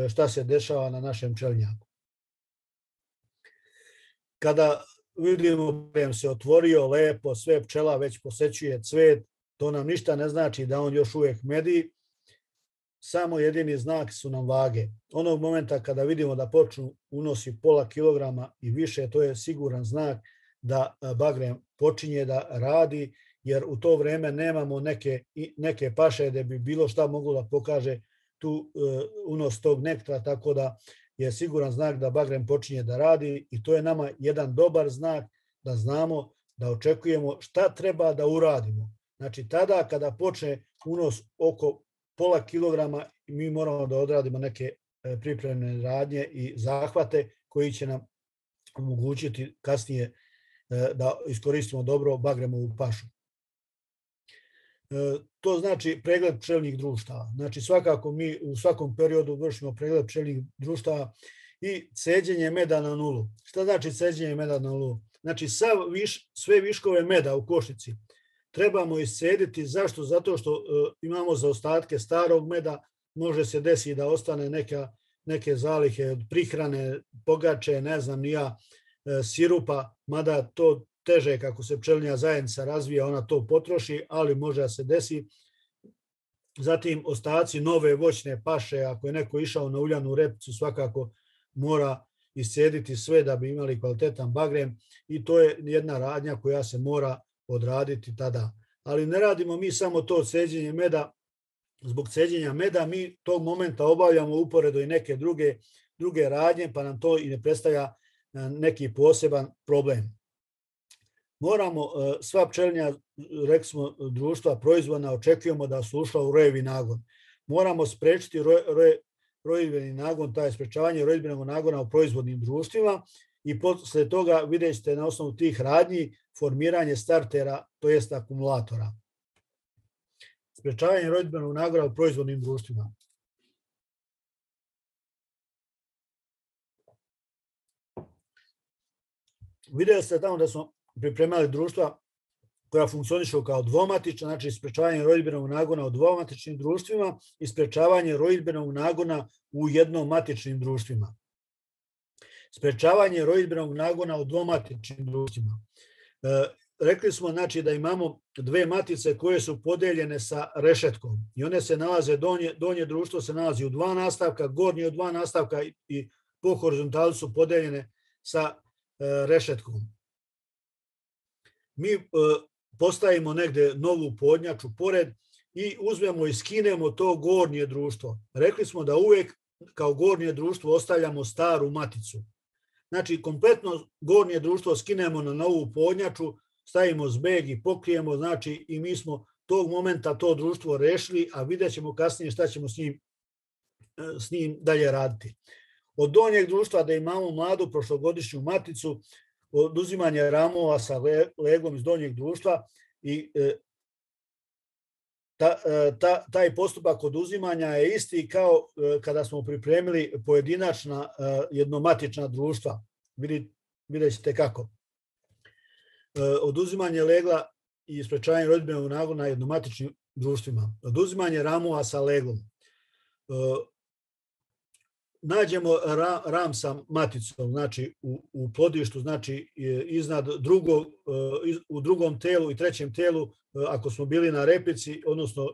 šta se dešava na našem pčelinjaku. Kada vidimo da se otvorio lepo, sve pčela već posećuje cvet, to nam ništa ne znači da on još uvijek medi, samo jedini znak su nam vage. Onog momenta kada vidimo da počnu unosi pola kilograma i više, to je siguran znak da bagrem počinje da radi, jer u to vreme nemamo neke, neke paše da bi bilo šta moglo da pokaže tu unos tog nektra, tako da je siguran znak da bagrem počinje da radi i to je nama jedan dobar znak da znamo, da očekujemo šta treba da uradimo. Znači, tada kada počne unos oko pola kilograma, mi moramo da odradimo neke pripremne radnje i zahvate koji će nam omogućiti kasnije da iskoristimo dobro bagremovu pašu. To znači pregled pčelinjih društava. Znači, svakako mi u svakom periodu vršimo pregled pčelinjih društava i ceđenje meda na nulu. Šta znači ceđenje meda na nulu? Znači, sve viškove meda u košnici trebamo iscediti. Zašto? Zato što imamo zaostatke starog meda, može se desiti da ostane neke zalihe od prihrane, pogače, ne znam ni ja, sirupa, mada to teže kako se pčelinja zajednica razvija, ona to potroši, ali može da se desi. Zatim ostaci nove voćne paše, ako je neko išao na uljanu repicu, svakako mora iscediti sve da bi imali kvalitetan bagrem i to je jedna radnja koja se mora odraditi tada. Ali ne radimo mi samo to ceđenje meda, zbog ceđenja meda mi tog momenta obavljamo uporedo i neke druge, druge radnje, pa nam to i ne predstavlja neki poseban problem. Moramo, sva pčelinja, rekli smo, društva proizvodna, očekujemo da su ušla u rojevi nagon. Moramo sprečiti rojidbeni nagon, taj sprečavanje rojidbenog nagona u proizvodnim društvima i posle toga vidjet ćete na osnovu tih radnji formiranje startera, to jest akumulatora. Sprečavanje rojidbenog nagona u proizvodnim društvima. Vidjeli ste tamo da smo pripremali društva koja funkcionišu kao dvomatična, znači sprečavanje rojidbenog nagona u dvomatičnim društvima i sprečavanje rojidbenog nagona u jednomatičnim društvima. Sprečavanje rojidbenog nagona u dvomatičnim društvima. Rekli smo znači da imamo dve matice koje su podeljene sa rešetkom i one se nalaze, donje, donje društvo se nalazi u dva nastavka, gornje u dva nastavka i po horizontali su podeljene sa rešetkom. Mi postavimo negde novu podnjaču pored i uzmemo i skinemo to gornje društvo. Rekli smo da uvek kao gornje društvo ostavljamo staru maticu. Znači, kompletno gornje društvo skinemo na novu podnjaču, stavimo zbeg i pokrijemo, znači i mi smo tog momenta to društvo rešili, a vidjet ćemo kasnije šta ćemo s njim, s njim dalje raditi. Od donjeg društva da imamo mladu prošlogodišnju maticu, oduzimanje ramova sa leglom iz donjeg društva i ta, ta, taj postupak oduzimanja je isti kao kada smo pripremili pojedinačna jednomatična društva. Vidjet ćete kako. Oduzimanje legla i sprečavanje rodbinskog nagona na jednomatičnim društvima. Oduzimanje ramova sa leglom. Nađemo ram sa maticom, znači u, u plodištu, znači iznad drugog, u drugom telu i trećem telu, ako smo bili na repici, odnosno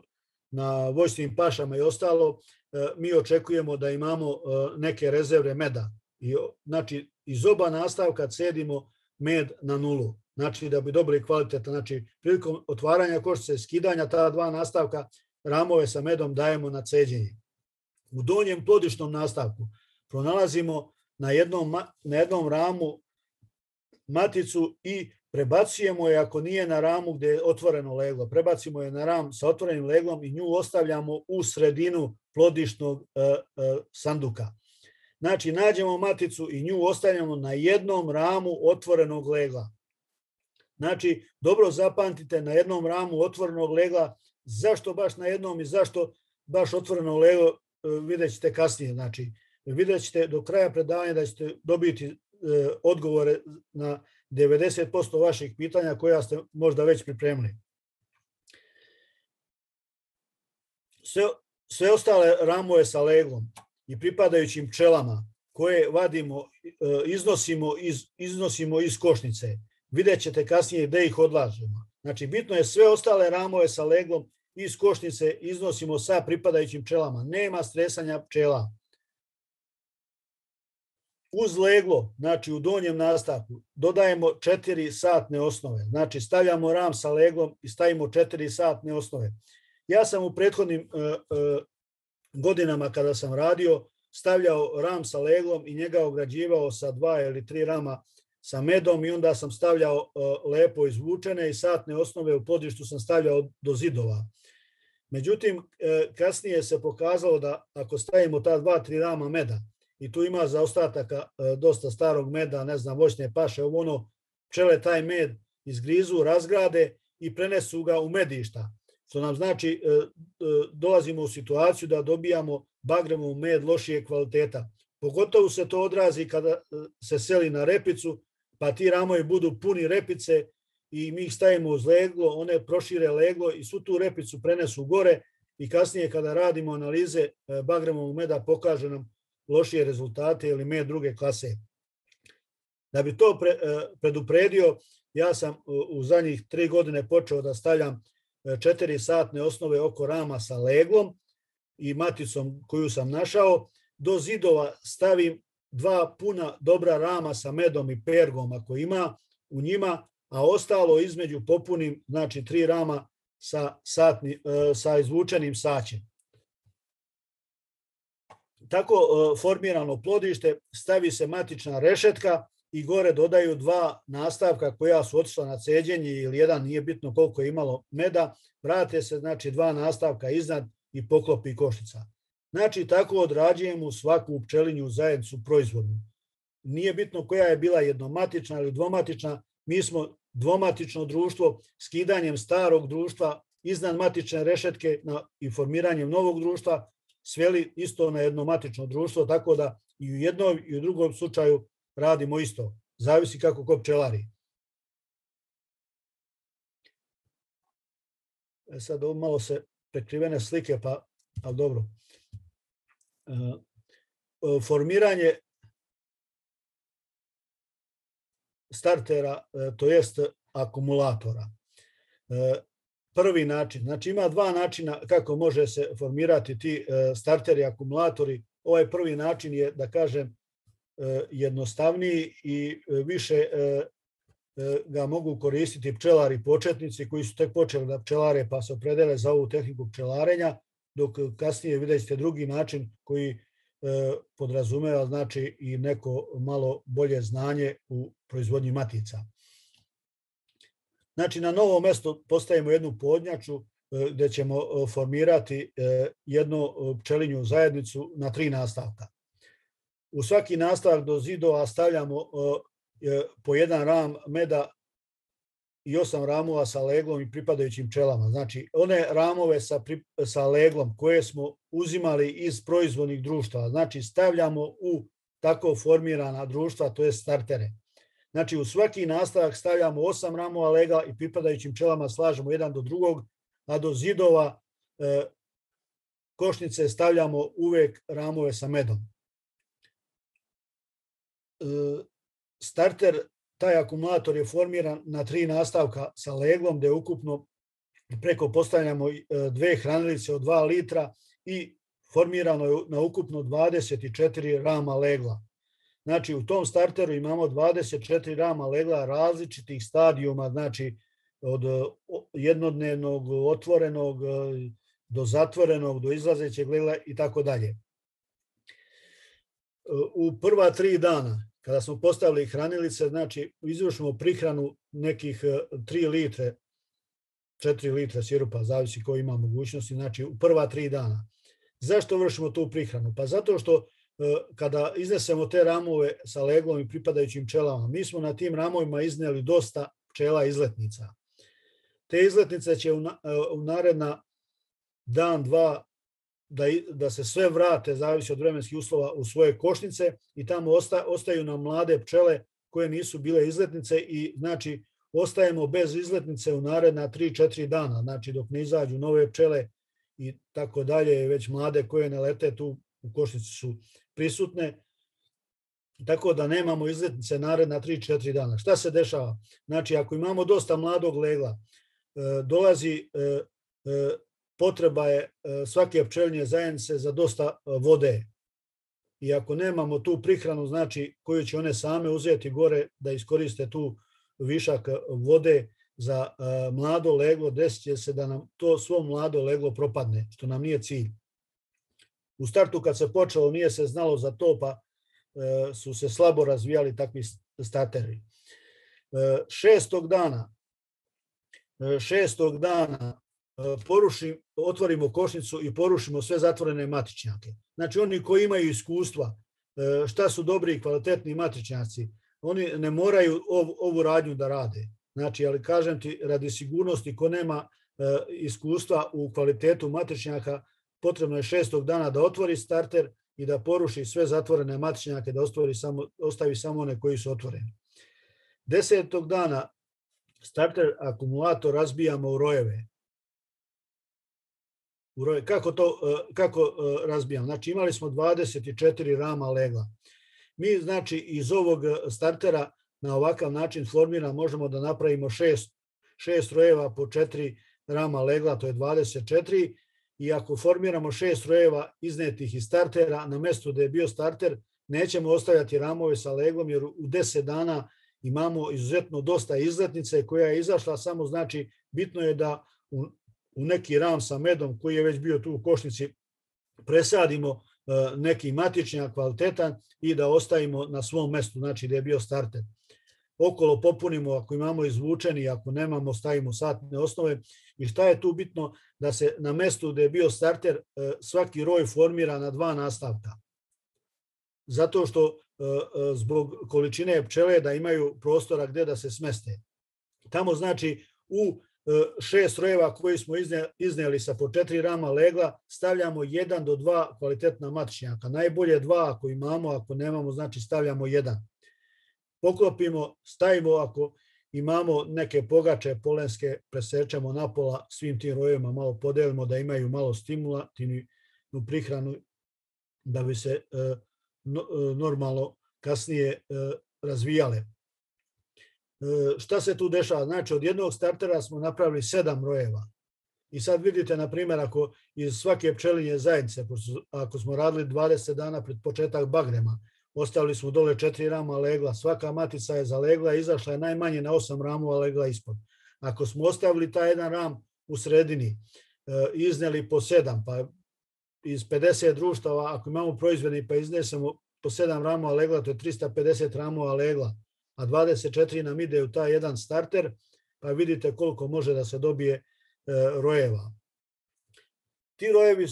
na voćnim pašama i ostalo, mi očekujemo da imamo neke rezerve meda. I, znači, iz oba nastavka cedimo med na nulu. Znači, da bi dobili kvalitetan, znači, prilikom otvaranja košnice, skidanja ta dva nastavka, ramove sa medom dajemo na ceđenje. U donjem plodišnom nastavku pronalazimo na jednom, na jednom ramu maticu i prebacujemo je, ako nije na ramu gdje je otvoreno leglo, prebacimo je na ram sa otvorenim leglom i nju ostavljamo u sredinu plodišnog e, e, sanduka. Znači, nađemo maticu i nju ostavljamo na jednom ramu otvorenog legla. Znači, dobro zapamtite, na jednom ramu otvorenog legla, zašto baš na jednom i zašto baš otvoreno leglo, vidjet ćete kasnije. Znači, vidjet ćete do kraja predavanja da ćete dobiti odgovore na devedeset posto vaših pitanja koja ste možda već pripremili. Sve, sve ostale ramove sa leglom i pripadajućim pčelama koje vadimo, iznosimo iz, iznosimo iz košnice, vidjet ćete kasnije gde ih odlažemo. Znači, bitno je sve ostale ramove sa leglom iz košnice iznosimo sa pripadajućim pčelama. Nema stresanja pčela. Uz leglo, znači u donjem nastavku, dodajemo četiri satne osnove. Znači, stavljamo ram sa leglom i stavimo četiri satne osnove. Ja sam u prethodnim uh, uh, godinama kada sam radio, stavljao ram sa leglom i njega ograđivao sa dva ili tri rama sa medom i onda sam stavljao uh, lepo izvučene i satne osnove u plodištu sam stavljao do zidova. Međutim, uh, kasnije se pokazalo da ako stavimo ta dva, tri rama meda i tu ima zaostataka uh, dosta starog meda, ne znam, voćne paše, ovo ono, pčele taj med izgrizu, razgrade i prenesu ga u medišta. Što nam znači, uh, uh, dolazimo u situaciju da dobijamo bagremov med lošije kvaliteta. Pogotovo se to odrazi kada uh, se seli na repicu, pa ti ramovi budu puni repice i mi ih stavimo uz leglo, one prošire leglo i svu tu repicu prenesu gore i kasnije kada radimo analize bagremovog meda pokaže nam lošije rezultate ili med druge klase. Da bi to pre, predupredio, ja sam u zadnjih tri godine počeo da stavljam četiri satne osnove oko rama sa leglom i maticom koju sam našao. Do zidova stavim dva puna dobra rama sa medom i pergom ako ima u njima, a ostalo između popunim, znači tri rama sa, satni, sa izvučenim saćem. Tako formirano plodište, stavi se matična rešetka i gore dodaju dva nastavka koja su otišla na ceđenje ili jedan, nije bitno koliko je imalo meda, vrate se znači dva nastavka iznad i poklopi košnica. Znači, tako odrađujemo svaku pčelinju zajednicu proizvodnu. Nije bitno koja je bila jednomatična ili dvomatična, mi smo dvomatično društvo skidanjem starog društva iznad matične rešetke na, i formiranjem novog društva sveli isto na jednomatično društvo, tako da i u jednom i u drugom slučaju radimo isto. Zavisi kako ko pčelari. E sad ovo malo se prekrivene slike, pa, ali dobro. E, formiranje startera, to jest akumulatora. Prvi način, znači ima dva načina kako može se formirati ti starteri i akumulatori. Ovaj prvi način je, da kažem, jednostavniji i više ga mogu koristiti pčelari početnici koji su tek počeli da pčelare pa se opredele za ovu tehniku pčelarenja, dok kasnije vidjet ćete drugi način koji podrazumeva znači i neko malo bolje znanje u proizvodnji matica. Znači, na novo mesto postavimo jednu podnjaču gdje ćemo formirati jednu pčelinju zajednicu na tri nastavka. U svaki nastavak do zidova stavljamo po jedan ram meda i osam ramova sa leglom i pripadajućim pčelama. Znači, one ramove sa, sa leglom koje smo uzimali iz proizvodnih društava, znači stavljamo u tako formirana društva, to je startere. Znači, u svaki nastavak stavljamo osam ramova legla i pripadajućim pčelama slažemo jedan do drugog, a do zidova e, košnice stavljamo uvek ramove sa medom. E, starter, taj akumulator je formiran na tri nastavka sa leglom, gde ukupno preko postavljamo dve hranilice od dva litra i formirano je na ukupno dvadeset četiri rama legla. Znači, u tom starteru imamo dvadeset četiri rama legla različitih stadijuma, znači od jednodnevnog, otvorenog, do zatvorenog, do izlazećeg legla i tako dalje. U prva tri dana, kada smo postavili hranilice, znači izvršimo prihranu nekih tri litre, četiri litre sirupa, zavisi ko ima mogućnosti, znači u prva tri dana. Zašto vršimo tu prihranu? Pa zato što kada iznesemo te ramove sa leglom i pripadajućim pčelama, mi smo na tim ramovima izneli dosta pčela izletnica. Te izletnice će u naredna dan, dva, da, da se sve vrate, zavisi od vremenskih uslova, u svoje košnice i tamo osta, ostaju nam mlade pčele koje nisu bile izletnice i znači ostajemo bez izletnice u naredna tri četiri dana, znači dok ne izađu nove pčele i tako dalje, već mlade koje ne lete tu u košnici su prisutne, tako da nemamo izletnice naredna tri četiri dana. Šta se dešava? Znači, ako imamo dosta mladog legla, dolazi, potreba je svake pčelinje zajednice za dosta vode. I ako nemamo tu prihranu, znači koju će one same uzeti gore da iskoriste tu višak vode za mlado leglo, desit će se da nam to svo mlado leglo propadne, što nam nije cilj. U startu kad se počelo nije se znalo za to, pa su se slabo razvijali takvi starteri. Šestog dana, šestog dana porušim, otvorimo košnicu i porušimo sve zatvorene matičnjake. Znači oni koji imaju iskustva, šta su dobri i kvalitetni matičnjaci, oni ne moraju ov, ovu radnju da rade. Znači, ali kažem ti, radi sigurnosti, ko nema iskustva u kvalitetu matičnjaka, potrebno je šestog dana da otvori starter i da poruši sve zatvorene matičnjake, da ostavi samo, ostavi samo one koji su otvoreni. Desetog dana starter akumulator razbijamo u rojeve. U roje. Kako to kako razbijamo? Znači imali smo dvadeset četiri rama legla. Mi znači iz ovog startera na ovakav način formira možemo da napravimo šest, šest rojeva po četiri rama legla, to je dvadeset četiri. I ako formiramo šest rojeva iznetih iz startera, na mjestu gdje je bio starter, nećemo ostavljati ramove sa leglom, jer u deset dana imamo izuzetno dosta izletnice koja je izašla, samo znači bitno je da u, u neki ram sa medom koji je već bio tu u košnici presadimo neki matičnjak kvalitetan i da ostavimo na svom mjestu, znači gdje je bio starter. Okolo popunimo ako imamo izvučeni, ako nemamo stavimo satne osnove. I šta je tu bitno? Da se na mjestu gdje je bio starter svaki roj formira na dva nastavka. Zato što zbog količine pčele da imaju prostora gdje da se smeste. Tamo znači u šest rojeva koji smo iznijeli sa po četiri rama legla stavljamo jedan do dva kvalitetna matičnjaka. Najbolje dva ako imamo, ako nemamo znači stavljamo jedan. Poklopimo, stavimo ako imamo neke pogače polenske, presečemo na pola svim tim rojevima, malo podelimo da imaju malo stimulativnu prihranu da bi se normalno kasnije razvijale. Šta se tu dešava? Znači od jednog startera smo napravili sedam rojeva. I sad vidite, na primjer, ako iz svake pčelinje zajednice, ako smo radili dvadeset dana pred početak bagrema, ostavili smo dole četiri rama legla, svaka matica je zalegla i izašla je najmanje na osam ramova legla ispod. Ako smo ostavili taj jedan ram u sredini, izneli po sedam, pa iz pedeset društava, ako imamo proizvodni pa iznesemo po sedam ramova legla, to je trista pedeset ramova legla, a dvadeset četiri nam ide u taj jedan starter, pa vidite koliko može da se dobije rojeva. Ti rojevi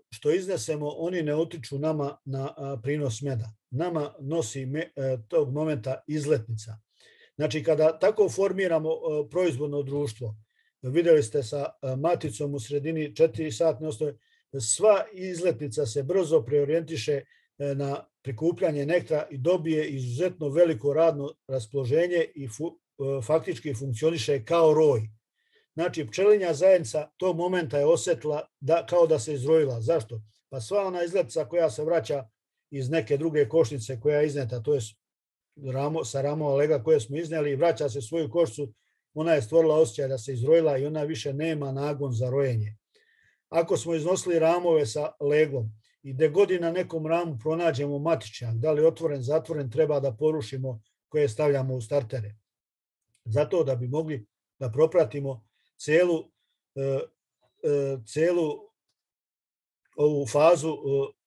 što iznesemo, oni ne utiču nama na prinos meda. Nama nosi me, tog momenta izletnica. Znači, kada tako formiramo proizvodno društvo, vidjeli ste sa maticom u sredini četiri satne osnove, sva izletnica se brzo preorijentiše na prikupljanje nektara i dobije izuzetno veliko radno raspoloženje i fu, faktički funkcioniše kao roj. Znači, pčelinja zajednica tog momenta je osjetila da, kao da se izrojila. Zašto? Pa sva ona izletnica koja se vraća iz neke druge košnice koja je izneta, to je ramo, sa ramova lega koje smo iznijeli i vraća se svoju košnicu, ona je stvorila osjećaj da se izrojila i ona više nema nagon za rojenje. Ako smo iznosili ramove sa leglom i gde god na nekom ramu pronađemo matičnjak, da li otvoren, zatvoren, treba da porušimo koje stavljamo u startere. Zato da bi mogli da propratimo celu, celu ovu fazu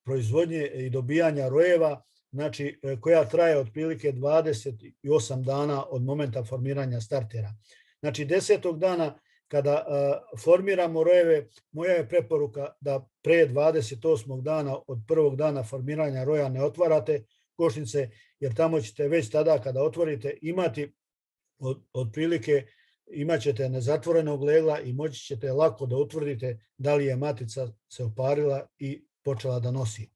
proizvodnje i dobijanja rojeva, znači koja traje otprilike dvadeset osam dana od momenta formiranja startera. Znači desetog dana kada formiramo rojeve, moja je preporuka da pre dvadeset osmog dana od prvog dana formiranja roja ne otvarate košnice, jer tamo ćete već tada kada otvorite imati od, otprilike imat ćete nezatvorenog legla i moći ćete lako da utvrdite da li je matica se oparila i počela da nosi.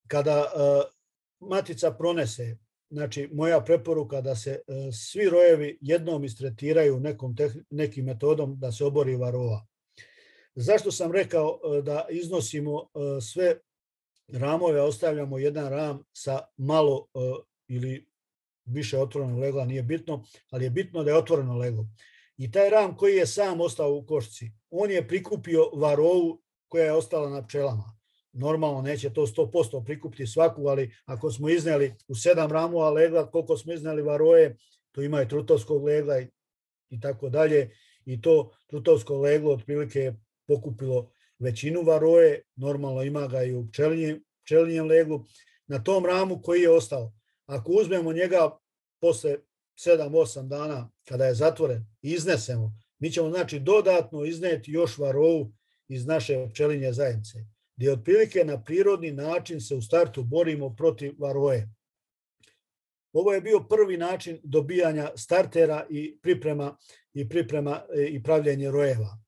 Kada uh, matica pronese, znači moja preporuka da se uh, svi rojevi jednom istretiraju nekom nekim metodom da se obori varroa. Zašto sam rekao uh, da iznosimo uh, sve ramove, ostavljamo jedan ram sa malo uh, ili više otvorenog legla, nije bitno, ali je bitno da je otvoreno leglo. I taj ram koji je sam ostao u košci, on je prikupio varrovu koja je ostala na pčelama. Normalno neće to sto posto prikupiti svaku, ali ako smo izneli u sedam ramova legla, koliko smo izneli varroje, to ima i trutovskog legla i, i tako dalje. I to trutovsko leglo otprilike je pokupilo većinu varroje, normalno ima ga i u pčelinjem, pčelinjem leglu. Na tom ramu koji je ostao, ako uzmemo njega posle sedam osam dana kada je zatvoren i iznesemo, mi ćemo znači dodatno izneti još varrovu iz naše pčelinje zajednice, gdje otprilike na prirodni način se u startu borimo protiv varroje. Ovo je bio prvi način dobijanja startera i priprema i priprema i pravljenje rojeva.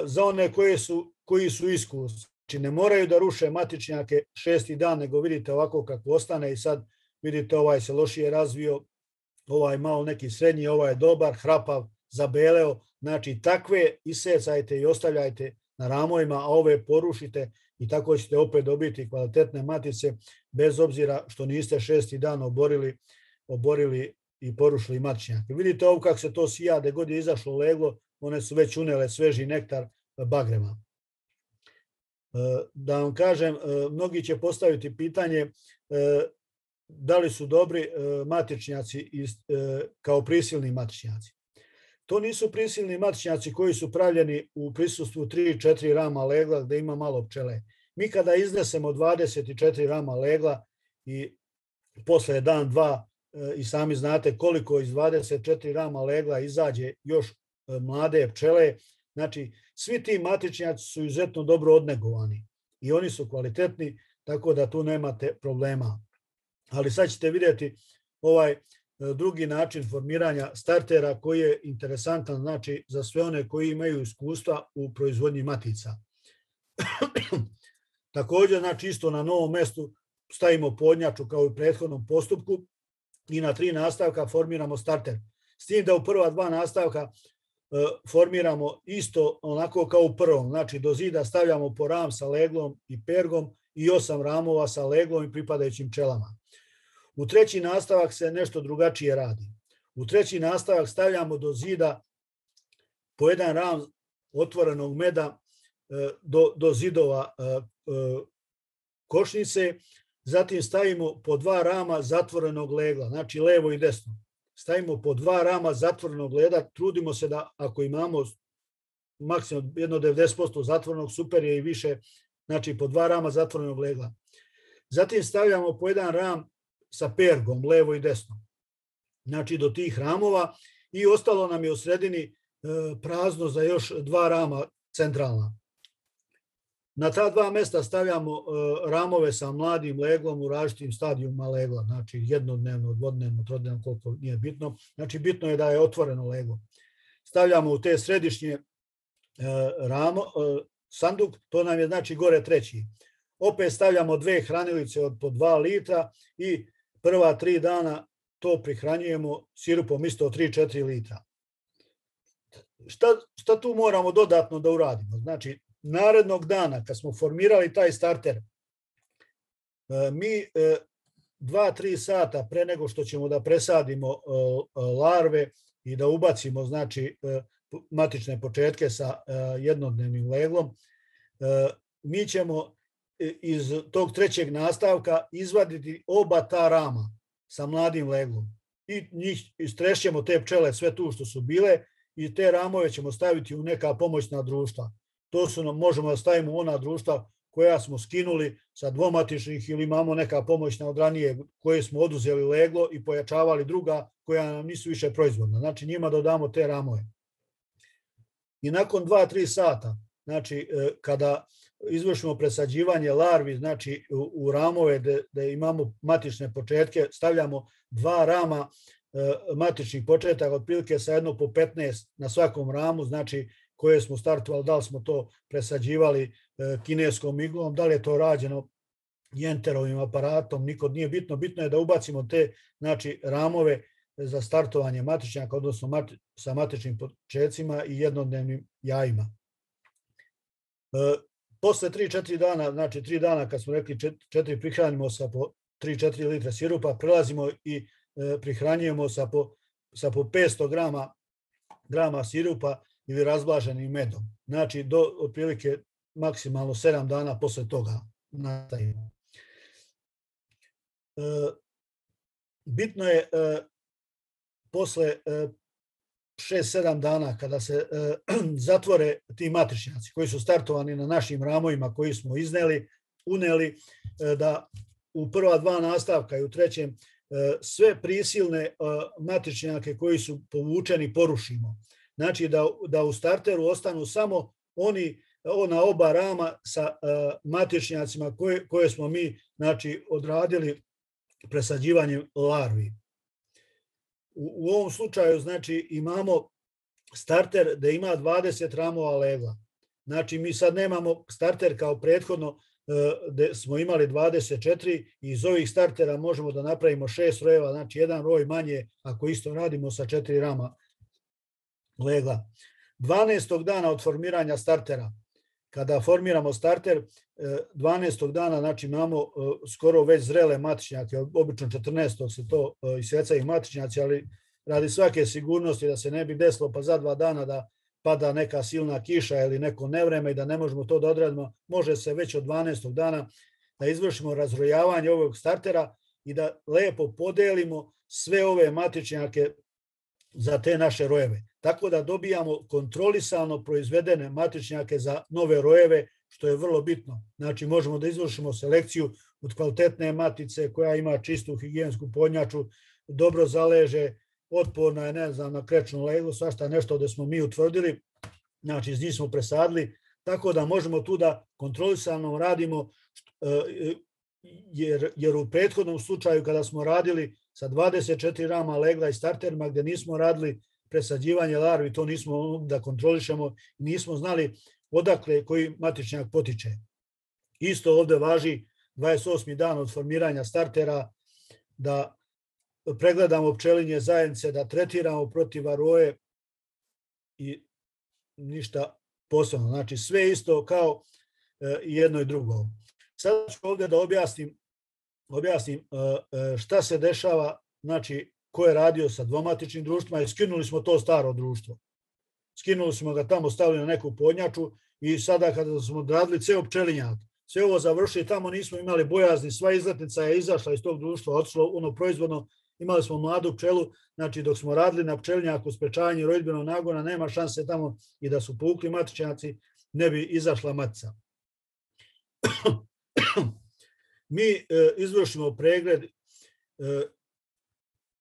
Za one koje su, koji su iskusni, znači ne moraju da ruše matičnjake šesti dan, nego vidite ovako kako ostane i sad vidite ovaj se lošije razvio, ovaj malo neki srednji, ovaj je dobar, hrapav, zabeleo. Znači takve isecajte i ostavljajte na ramovima, a ove porušite i tako ćete opet dobiti kvalitetne matice, bez obzira što niste šesti dan oborili, oborili i porušili matičnjake. Vidite ovo kako se to sija, gde god je izašlo leglo, one su već unele sveži nektar bagrema. Da vam kažem, mnogi će postaviti pitanje da li su dobri matičnjaci kao prisilni matičnjaci. To nisu prisilni matičnjaci koji su pravljeni u prisustvu tri četiri rama legla gde ima malo pčele. Mi kada iznesemo dvadeset četiri rama legla i posle dan, dva i sami znate koliko iz dvadeset četiri rama legla izađe još mlade pčele, znači svi ti matičnjaci su izuzetno dobro odnegovani i oni su kvalitetni, tako da tu nemate problema. Ali sad ćete vidjeti ovaj drugi način formiranja startera koji je interesantan, znači za sve one koji imaju iskustva u proizvodnji matica. Također, znači isto na novom mestu stavimo podnjaču kao i u prethodnom postupku i na tri nastavka formiramo starter. S tim da u prva dva nastavka formiramo isto onako kao u prvom, znači do zida stavljamo po ram sa leglom i pergom i osam ramova sa leglom i pripadajućim pčelama. U treći nastavak se nešto drugačije radi. U treći nastavak stavljamo do zida po jedan ram otvorenog meda do, do zidova košnice, zatim stavimo po dva rama zatvorenog legla, znači levo i desno. Stavimo po dva rama zatvorenog leda, trudimo se da ako imamo maksimum jedno devedeset posto zatvorenog, super je i više, znači po dva rama zatvorenog legla. Zatim stavljamo po jedan ram sa pergom, levo i desno, znači do tih ramova i ostalo nam je u sredini prazno za još dva rama centralna. Na ta dva mesta stavljamo ramove sa mladim leglom u različitim stadijuma legla, znači jednodnevno, dvodnevno, trodnevno, koliko nije bitno. Znači bitno je da je otvoreno leglo. Stavljamo u te središnje ramo, sanduk, to nam je znači gore treći. Opet stavljamo dve hranilice od po dva litra i prva tri dana to prihranjujemo sirupom isto tri do četiri litra. Šta, šta tu moramo dodatno da uradimo? Znači, narednog dana kad smo formirali taj starter, mi dva do tri sata pre nego što ćemo da presadimo larve i da ubacimo znači matične početke sa jednodnevnim leglom, mi ćemo iz tog trećeg nastavka izvaditi oba ta rama sa mladim leglom i njih istrešćemo te pčele sve tu što su bile i te ramove ćemo staviti u neka pomoćna društva. To su nam, možemo da stavimo u ona društva koja smo skinuli sa dvomatičnih ili imamo neka pomoćna od ranije koje smo oduzeli leglo i pojačavali druga koja nam nisu više proizvodna. Znači njima dodamo te ramove. I nakon dva do tri sata, znači kada izvršimo presađivanje larvi, znači u, u ramove gde imamo matične početke, stavljamo dva rama matičnih početaka, otprilike sa jedno po petnaest na svakom ramu, znači koje smo startovali, da li smo to presađivali kineskom iglom, da li je to rađeno jenterovim aparatom, nikod nije bitno. Bitno je da ubacimo te znači, ramove za startovanje matičnjaka, odnosno mati, sa matičnim početcima i jednodnevnim jajima. E, posle tri do četiri dana, znači tri dana kad smo rekli četiri prihranimo sa po tri do četiri litre sirupa, prelazimo i e, prihranjujemo sa po, sa po petsto grama, grama sirupa ili razblaženim medom. Znači do otprilike maksimalno sedam dana posle toga nastavimo. E, bitno je e, posle e, šest do sedam dana kada se e, zatvore ti matičnjaci koji su startovani na našim ramovima koji smo izneli, uneli, e, da u prva dva nastavka i u trećem e, sve prisilne e, matičnjake koji su povučeni porušimo. Znači da, da u starteru ostanu samo oni ona oba rama sa uh, matičnjacima koje, koje smo mi znači, odradili presađivanjem larvi. U, u ovom slučaju znači, imamo starter da ima dvadeset ramova legla. Znači mi sad nemamo starter kao prethodno uh, gde smo imali dvadeset četiri i iz ovih startera možemo da napravimo šest rojeva, znači jedan roj manje ako isto radimo sa četiri rama legla. dvanaestog dana od formiranja startera, kada formiramo starter, dvanaestog dana znači imamo skoro već zrele matičnjake, obično četrnaestog se to isecaju matičnjaci, ali radi svake sigurnosti da se ne bi desilo pa za dva dana da pada neka silna kiša ili neko nevreme i da ne možemo to da odradimo, može se već od dvanaestog dana da izvršimo razrojavanje ovog startera i da lepo podelimo sve ove matičnjake za te naše rojeve. Tako da dobijamo kontrolisano proizvedene matičnjake za nove rojeve, što je vrlo bitno. Znači možemo da izvršimo selekciju od kvalitetne matice koja ima čistu higijensku podnjaču, dobro zaleže, otporna je, ne znam, na krečnu leglu, svašta nešto da smo mi utvrdili, znači iz njih smo presadili, tako da možemo tu da kontrolisano radimo, jer, jer u prethodnom slučaju kada smo radili sa dvadeset četiri rama legla i starterima gde nismo radili presađivanje larvi, to nismo da kontrolišemo, nismo znali odakle koji matičnjak potiče. Isto ovde važi dvadeset osmi dan od formiranja startera, da pregledamo pčelinje zajednice, da tretiramo protiv varoje i ništa posebno. Znači sve isto kao jedno i drugo. Sad ću ovde da objasnim, objasnim šta se dešava, znači ko je radio sa dvomatičnim društvima i skinuli smo to staro društvo. Skinuli smo ga tamo, stavili na neku podnjaču i sada kada smo odradili ceo pčelinjak, sve ovo završili, tamo nismo imali bojazni, sva izletnica je izašla iz tog društva, otišlo ono proizvodno, imali smo mladu pčelu, znači dok smo radili na pčelinjaku sprečavanje rodidbenog nagona, nema šanse tamo i da su povukli matičnjaci, ne bi izašla matica. Mi e, izvršimo pregled e,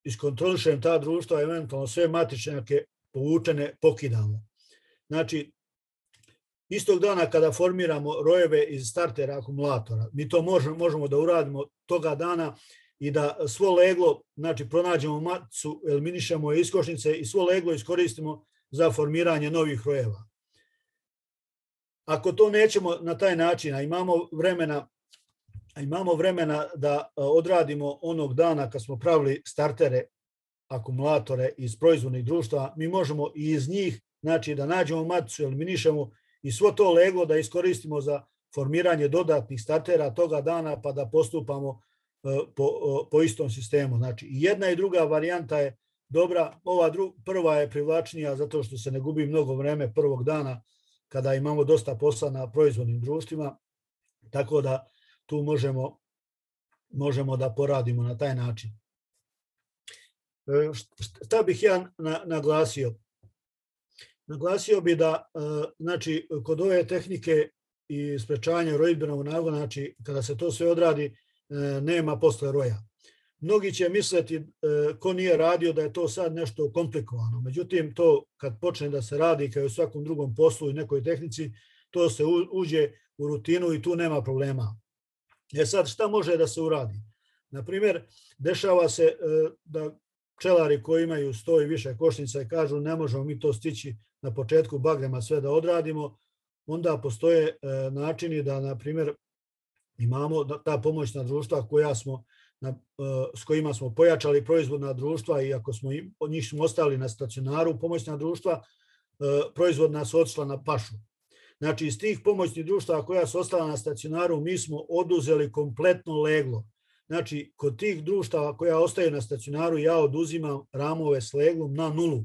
iskontrolišem ta društva, eventualno sve matičnjake povučene pokidamo. Znači, istog dana kada formiramo rojeve iz startera akumulatora, mi to možemo, možemo da uradimo toga dana i da svo leglo, znači pronađemo maticu, eliminišemo je iz košnice i svo leglo iskoristimo za formiranje novih rojeva. Ako to nećemo na taj način, a imamo vremena, a imamo vremena da odradimo onog dana kad smo pravili startere, akumulatore iz proizvodnih društva, mi možemo i iz njih, znači da nađemo maticu, eliminišemo i svo to leglo da iskoristimo za formiranje dodatnih startera toga dana pa da postupamo po, po istom sistemu. Znači, jedna i druga varijanta je dobra, ova dru, prva je privlačnija zato što se ne gubi mnogo vreme prvog dana kada imamo dosta posla na proizvodnim društvima, tako da tu možemo, možemo da poradimo na taj način. Šta bih ja naglasio? Naglasio bi da, znači, kod ove tehnike i sprečavanja rojidbenog nagona, znači, kada se to sve odradi, nema posle roja. Mnogi će misliti, ko nije radio, da je to sad nešto komplikovano. Međutim, to kad počne da se radi, kao i u svakom drugom poslu i nekoj tehnici, to se uđe u rutinu i tu nema problema. E sad, šta može da se uradi? Naprimjer, dešava se da pčelari koji imaju sto i više košnica i kažu ne možemo mi to stići na početku bagrema sve da odradimo, onda postoje načini da, na primjer, imamo ta pomoćna društva koja smo, na, s kojima smo pojačali proizvodna društva i ako smo njih smo ostali na stacionaru, pomoćna društva, proizvodna su otišla na pašu. Znači, iz tih pomoćnih društva koja su ostala na stacionaru, mi smo oduzeli kompletno leglo. Znači, kod tih društava koja ostaju na stacionaru, ja oduzimam ramove s leglom na nulu.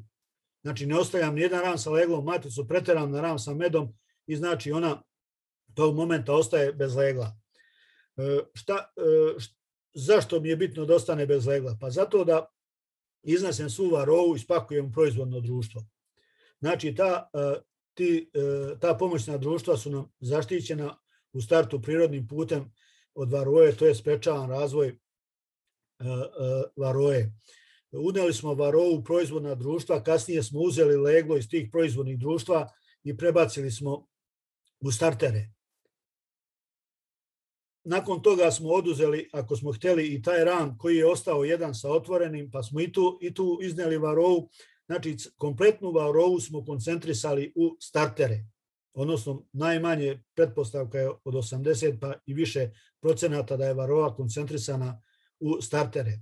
Znači, ne ostavljam nijedan ram sa leglom, maticu preteram na ram sa medom i znači ona tog momenta ostaje bez legla. Šta, zašto mi je bitno da ostane bez legla? Pa zato da iznesem svu varovu i spakujem u proizvodno društvo. Znači, ta, ti, ta pomoćna društva su nam zaštićena u startu prirodnim putem od varoje, to je sprečavan razvoj varoje. Uneli smo varovu u proizvodna društva, kasnije smo uzeli leglo iz tih proizvodnih društva i prebacili smo u startere. Nakon toga smo oduzeli, ako smo htjeli, i taj ram koji je ostao jedan sa otvorenim, pa smo i tu, i tu izneli varovu. Znači, kompletnu varovu smo koncentrisali u startere. Odnosno, najmanje pretpostavka je od osamdeset pa i više procenata da je varova koncentrisana u startere.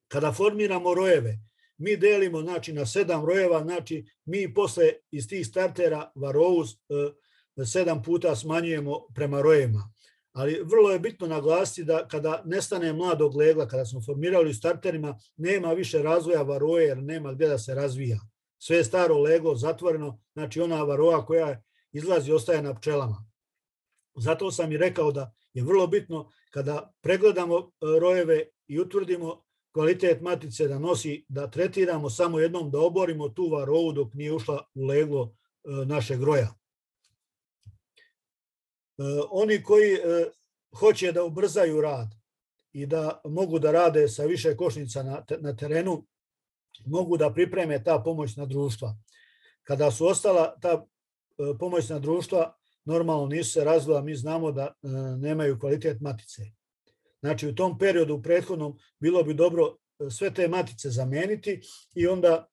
Kada formiramo rojeve, mi delimo, znači, na sedam rojeva, znači mi posle iz tih startera varovu e, sedam puta smanjujemo prema rojevima. Ali vrlo je bitno naglasiti da kada nestane mladog legla, kada smo formirali u starterima, nema više razvoja varoje jer nema gdje da se razvija. Sve je staro leglo, zatvoreno, znači ona varova koja izlazi ostaje na pčelama. Zato sam i rekao da je vrlo bitno kada pregledamo rojeve i utvrdimo kvalitet matice da nosi, da tretiramo samo jednom, da oborimo tu varovu dok nije ušla u leglo našeg roja. Oni koji hoće da ubrzaju rad i da mogu da rade sa više košnica na terenu, mogu da pripreme ta pomoćna društva. Kada su ostala ta pomoćna društva, normalno nisu se razvila, mi znamo da nemaju kvalitet matice. Znači, u tom periodu, u prethodnom, bilo bi dobro sve te matice zameniti i onda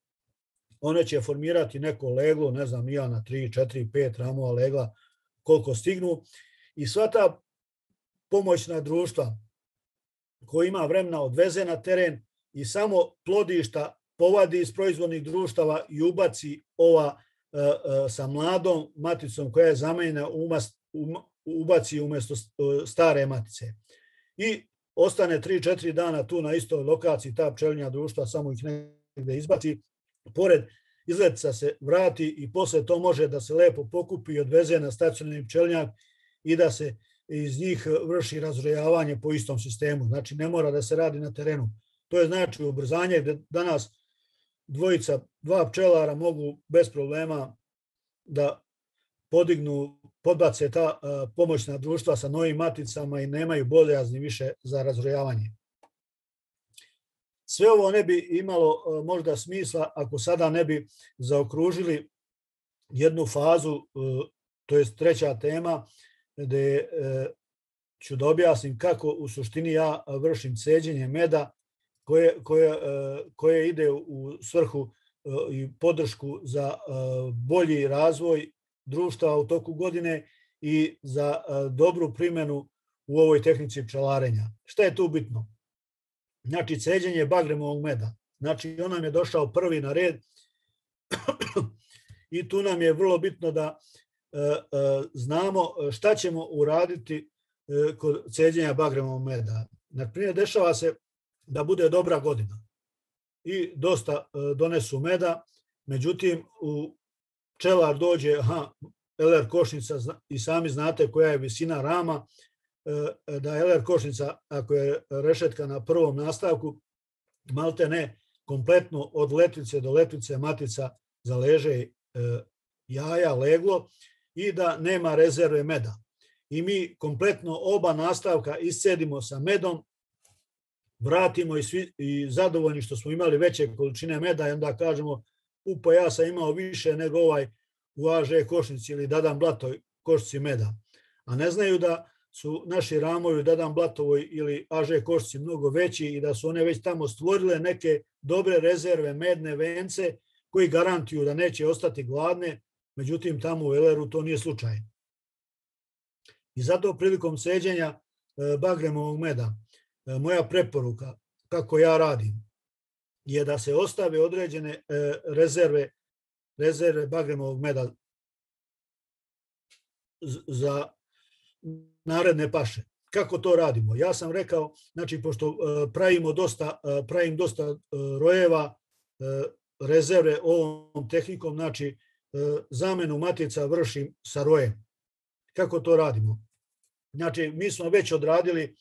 one će formirati neko leglo, ne znam, ja na tri, četiri, pet ramova legla, koliko stignu. I sva ta pomoćna društva koja ima vremena odveze na teren i samo plodišta povadi iz proizvodnih društava i ubaci ova sa mladom maticom koja je zamenjena, ubaci umjesto stare matice. I ostane tri četiri dana tu na istoj lokaciji, ta pčelinja društva samo ih negde izbaci, pored izletica se vrati i posle to može da se lepo pokupi i odveze na stacionarni pčelinjak i da se iz njih vrši razrojavanje po istom sistemu. Znači, ne mora da se radi na terenu. To je znači ubrzanje gde danas dvojica, dva pčelara mogu bez problema da podignu, podbace ta pomoćna društva sa novim maticama i nemaju bojazni više za razrojavanje. Sve ovo ne bi imalo možda smisla ako sada ne bi zaokružili jednu fazu, to je treća tema, gde ću da objasnim kako u suštini ja vršim ceđenje meda koje, koje, koje ide u svrhu i podršku za bolji razvoj društva u toku godine i za dobru primjenu u ovoj tehnici pčelarenja. Šta je tu bitno? Znači, ceđenje bagremovog meda. Znači, on nam je došao prvi na red i tu nam je vrlo bitno da znamo šta ćemo uraditi kod ceđenja bagremovog meda. Naprimjer, dešava se da bude dobra godina i dosta donesu meda, međutim, u pčelar dođe, aha, el er košnica i sami znate koja je visina rama, da el er košnica, ako je rešetka na prvom nastavku, malte ne kompletno od letvice do letvice matica zaleže jaja, leglo i da nema rezerve meda. I mi kompletno oba nastavka iscedimo sa medom, vratimo i, svi, i zadovoljni što smo imali veće količine meda i onda kažemo, upa, ja sam imao više nego ovaj u a že košnici ili Dadan Blatoj košnici meda. A ne znaju da su naši ramovi u Dadan Blatovoj ili a že košnici mnogo veći i da su one već tamo stvorile neke dobre rezerve medne vence koji garantuju da neće ostati gladne, međutim tamo u el er u to nije slučaj. I zato prilikom ceđenja bagremovog meda, moja preporuka, kako ja radim, je da se ostave određene rezerve, rezerve bagremovog meda za naredne paše. Kako to radimo? Ja sam rekao, znači, pošto pravimo dosta, pravim dosta rojeva, rezerve ovom tehnikom, znači, zamenu matica vršim sa rojem. Kako to radimo? Znači, mi smo već odradili,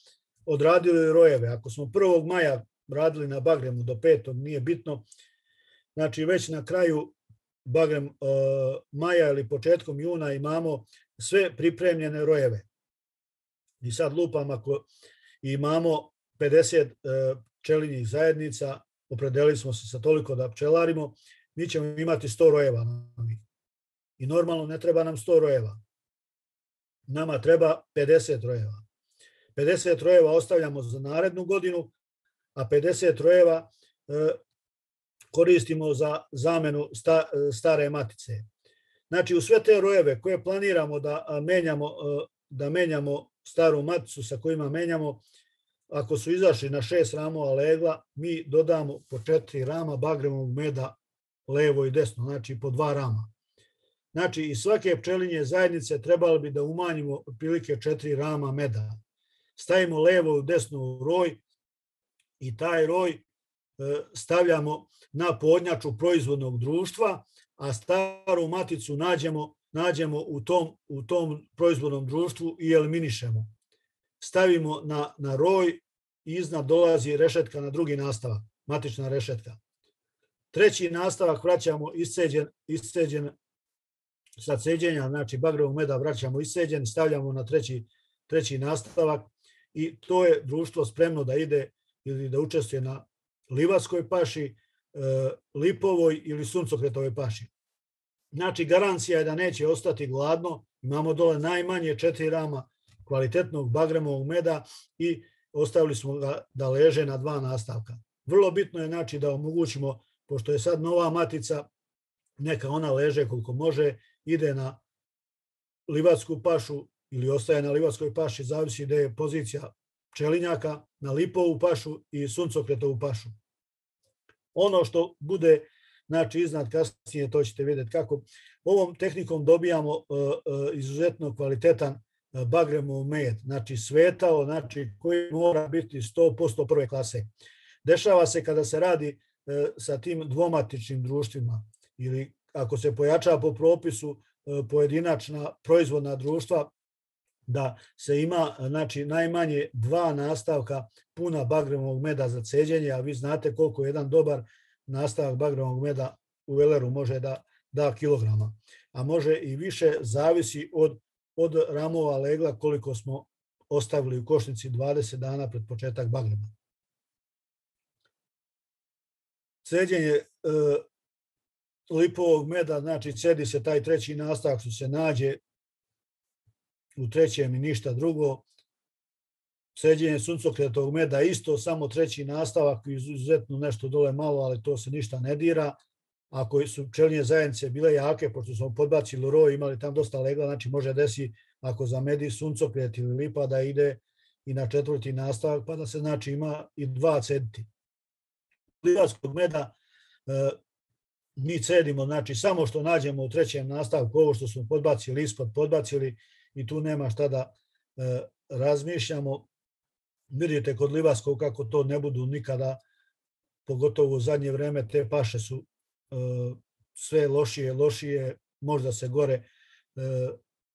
odradili rojeve. Ako smo prvog maja radili na bagremu do petog, nije bitno. Znači, već na kraju bagrem uh, maja ili početkom juna imamo sve pripremljene rojeve. I sad lupam, ako imamo pedeset uh, pčelinjih zajednica, opredelili smo se sa toliko da pčelarimo, mi ćemo imati sto rojeva. I normalno ne treba nam sto rojeva. Nama treba pedeset rojeva. pedeset rojeva ostavljamo za narednu godinu, a pedeset rojeva e, koristimo za zamenu sta, stare matice. Znači, u sve te rojeve koje planiramo da menjamo, da menjamo staru maticu sa kojima menjamo, ako su izašli na šest ramova legla, mi dodamo po četiri rama bagremovog meda levo i desno, znači po dva rama. Znači, iz svake pčelinje zajednice trebalo bi da umanjimo otprilike četiri rama meda. Stavimo levo i desno roj i taj roj stavljamo na podnjaču proizvodnog društva, a staru maticu nađemo, nađemo u, tom, u tom proizvodnom društvu i eliminišemo. Stavimo na, na roj i iznad dolazi rešetka na drugi nastavak, matična rešetka. Treći nastavak vraćamo isceđen, isceđen sa ceđenja, znači bagrovog meda vraćamo isceđen, stavljamo na treći, treći nastavak i to je društvo spremno da ide ili da učestvuje na livatskoj paši, lipovoj ili suncokretovoj paši. Znači, garancija je da neće ostati gladno, imamo dole najmanje četiri rama kvalitetnog bagremovog meda i ostavili smo ga da leže na dva nastavka. Vrlo bitno je, znači, da omogućimo, pošto je sad nova matica, neka ona leže koliko može, ide na livatsku pašu ili ostaje na livatskoj paši, zavisi gde je pozicija pčelinjaka, na lipovu pašu i suncokretovu pašu. Ono što bude, znači, iznad kasnije, to ćete vidjeti kako. Ovom tehnikom dobijamo uh, uh, izuzetno kvalitetan uh, bagremov med, znači svetao, znači koji mora biti sto posto prve klase. Dešava se kada se radi uh, sa tim dvomatičnim društvima ili ako se pojača po propisu uh, pojedinačna proizvodna društva, da se ima, znači, najmanje dva nastavka puna bagremovog meda za ceđenje, a vi znate koliko jedan dobar nastavak bagremovog meda u el er-u može da da kilograma, a može i više, zavisi od, od ramova legla koliko smo ostavili u košnici dvadeset dana pred početak bagrema. Ceđenje e, lipovog meda, znači cedi se taj treći nastavak što se nađe u trećem i ništa drugo. Ceđenje suncokretovog meda isto, samo treći nastavak, izuzetno nešto dole malo, ali to se ništa ne dira. Ako su pčelinje zajednice bile jake, pošto smo podbacili roj, imali tam dosta legla, znači može desi ako zamedi suncokret ili lipa da ide i na četvrti nastavak, pa da se znači ima i dva cediti. Livarskog meda e, mi cedimo, znači samo što nađemo u trećem nastavku, ovo što smo podbacili ispod, podbacili i tu nema šta da e, razmišljamo. Vidite kod livarskog kako to ne budu nikada, pogotovo u zadnje vreme, te paše su e, sve lošije, lošije, možda se gore e,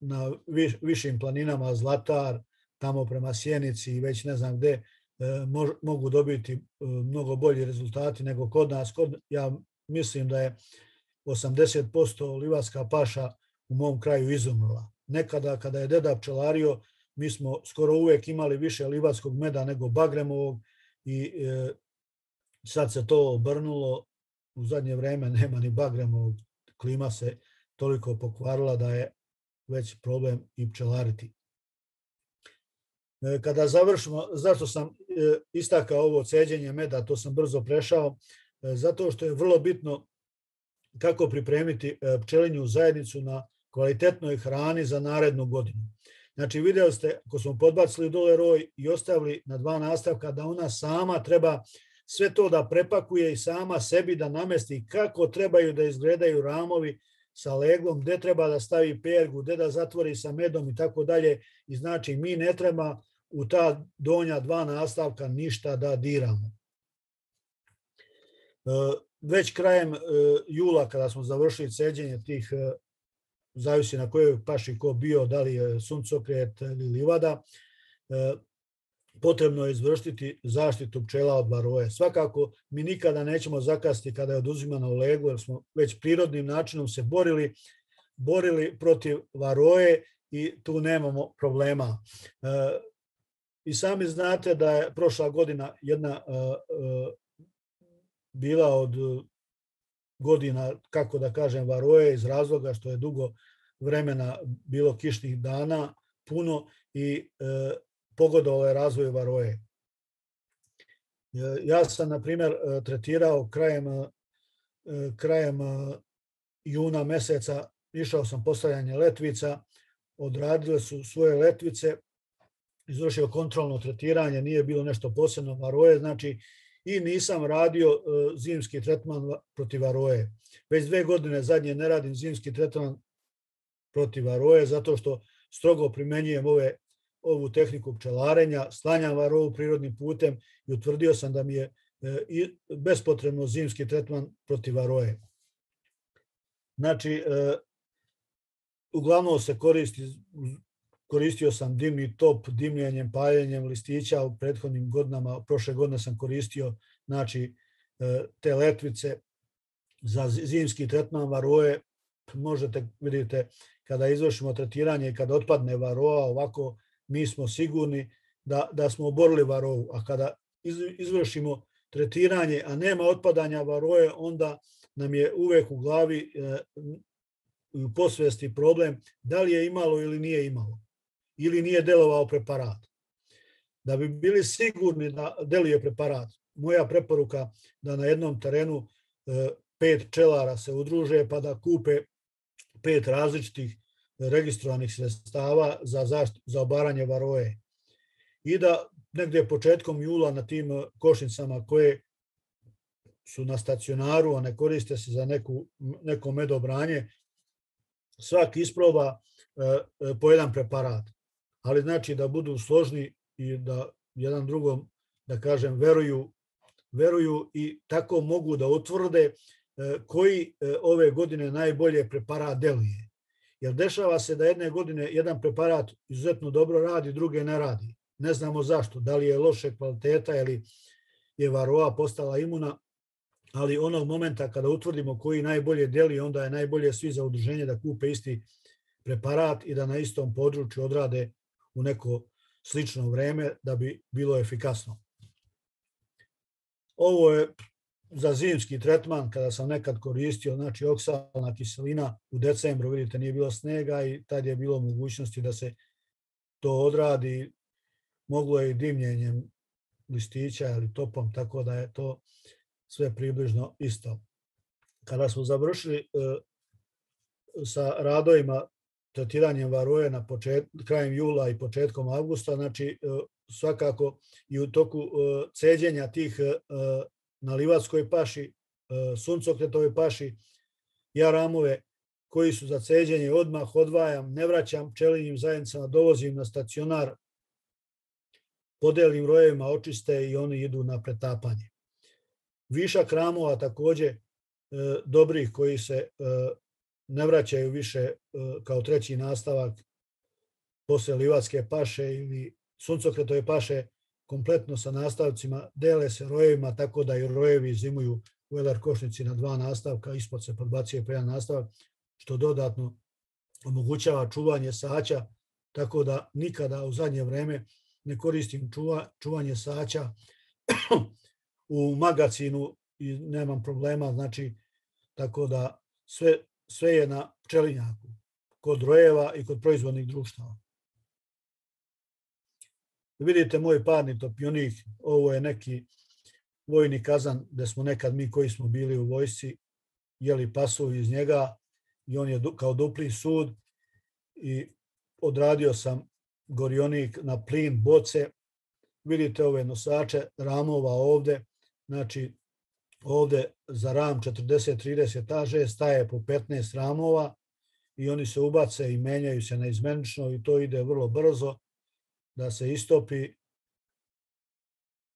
na viš, višim planinama, Zlatar, tamo prema Sjenici i već ne znam gde, e, mož, mogu dobiti e, mnogo bolji rezultati nego kod nas. Kod, ja mislim da je osamdeset posto livarska paša u mom kraju izumrla. Nekada kada je deda pčelario, mi smo skoro uvek imali više livarskog meda nego bagremovog i e, sad se to obrnulo. U zadnje vreme nema ni bagremovog, klima se toliko pokvarila da je već problem i pčelariti. E, kada završimo, zašto sam e, istakao ovo ceđenje meda, to sam brzo prešao, e, zato što je vrlo bitno kako pripremiti e, pčelinju zajednicu na kvalitetnoj hrani za narednu godinu. Znači, vidjeli ste, ako smo podbacili dole roj i ostavili na dva nastavka, da ona sama treba sve to da prepakuje i sama sebi da namesti kako trebaju da izgledaju ramovi sa leglom, gde treba da stavi pergu, gde da zatvori sa medom i tako dalje. I znači, mi ne treba u ta donja dva nastavka ništa da diramo. Već krajem jula, kada smo završili ceđenje tih, zavisi na kojoj paši ko bio, da li je suncokret ili livada, potrebno je izvršiti zaštitu pčela od varoje. Svakako, mi nikada nećemo zakasniti kada je oduzimana u leglu, jer smo već prirodnim načinom se borili, borili protiv varoje i tu nemamo problema. I sami znate da je prošla godina jedna bila od godina, kako da kažem, varoje iz razloga što je dugo vremena bilo kišnih dana, puno i e, pogodovalo je razvoju varoje. E, ja sam, na primjer, tretirao krajem, e, krajem juna meseca, išao sam postavljanje letvica, odradile su svoje letvice, izvršio kontrolno tretiranje, nije bilo nešto posebno varoje, znači i nisam radio uh, zimski tretman protiv varoje. Već dve godine zadnje ne radim zimski tretman protiv varoje zato što strogo primenjujem ove, ovu tehniku pčelarenja, sklanjam varoju prirodnim putem i utvrdio sam da mi je uh, i bespotrebno zimski tretman protiv varoje. Znači, uh, uglavnom se koristi, koristio sam dimni top, dimljenjem, paljenjem listića u prethodnim godinama. Prošle godine sam koristio znači, te letvice za zimski tretman varoje. Možete, vidite, kada izvršimo tretiranje i kada otpadne varoa, ovako mi smo sigurni da, da smo oborili varovu. A kada izvršimo tretiranje, a nema otpadanja varoje, onda nam je uvek u glavi i u posvesti problem da li je imalo ili nije imalo, ili nije delovao preparat. Da bi bili sigurni da deluje preparat, moja preporuka da na jednom terenu pet pčelara se udruže pa da kupe pet različitih registrovanih sredstava za, zašt, za obaranje varoje. I da negdje početkom jula na tim košnicama koje su na stacionaru, a ne koriste se za neku, neko medobranje, svaki isproba po jedan preparat. Ali znači da budu složni i da jedan drugom, da kažem, veruju, veruju i tako mogu da utvrde koji ove godine najbolje preparat deluje. Jer dešava se da jedne godine jedan preparat izuzetno dobro radi, druge ne radi. Ne znamo zašto, da li je loše kvaliteta ili je varoa postala imuna, ali onog momenta kada utvrdimo koji najbolje deli, onda je najbolje svi za udruženje da kupe isti preparat i da na istom području odrade u neko slično vreme da bi bilo efikasno. Ovo je za zimski tretman, kada sam nekad koristio, znači oksalna kiselina u decembru, vidite, nije bilo snega i tad je bilo mogućnosti da se to odradi. Moglo je i dimljenjem listića ili topom, tako da je to sve približno isto. Kada smo završili e, sa radovima tretiranjem varoje na počet, krajem jula i početkom avgusta, znači e, svakako i u toku e, ceđenja tih e, na Livatskoj paši, e, suncokretovoj paši, ja ramove koji su za ceđenje odmah odvajam, ne vraćam pčelinjim zajednicama, dovozim na stacionar, podelim rojevima, očiste i oni idu na pretapanje. Višak ramova također e, dobrih koji se e, ne vraćaju više e, kao treći nastavak posle Livatske paše ili suncokretove paše, kompletno sa nastavcima, dele se rojevima, tako da i rojevi zimuju u eler košnici na dva nastavka, ispod se podbacuje po jedan nastavak, što dodatno omogućava čuvanje saća, tako da nikada u zadnje vreme ne koristim čuva, čuvanje saća u magacinu i nemam problema, znači tako da sve, sve je na pčelinjaku, kod rojeva i kod proizvodnih društava. Vidite moj parni topionik, ovo je neki vojni kazan gde smo nekad mi koji smo bili u vojsci jeli pasulj iz njega i on je kao dupli sud i odradio sam gorionik na plin boce. Vidite ove nosače ramova ovde, znači ovde za ram četrdeset trideset A Ž staje po petnaest ramova i oni se ubace i menjaju se naizmenično i to ide vrlo brzo da se istopi.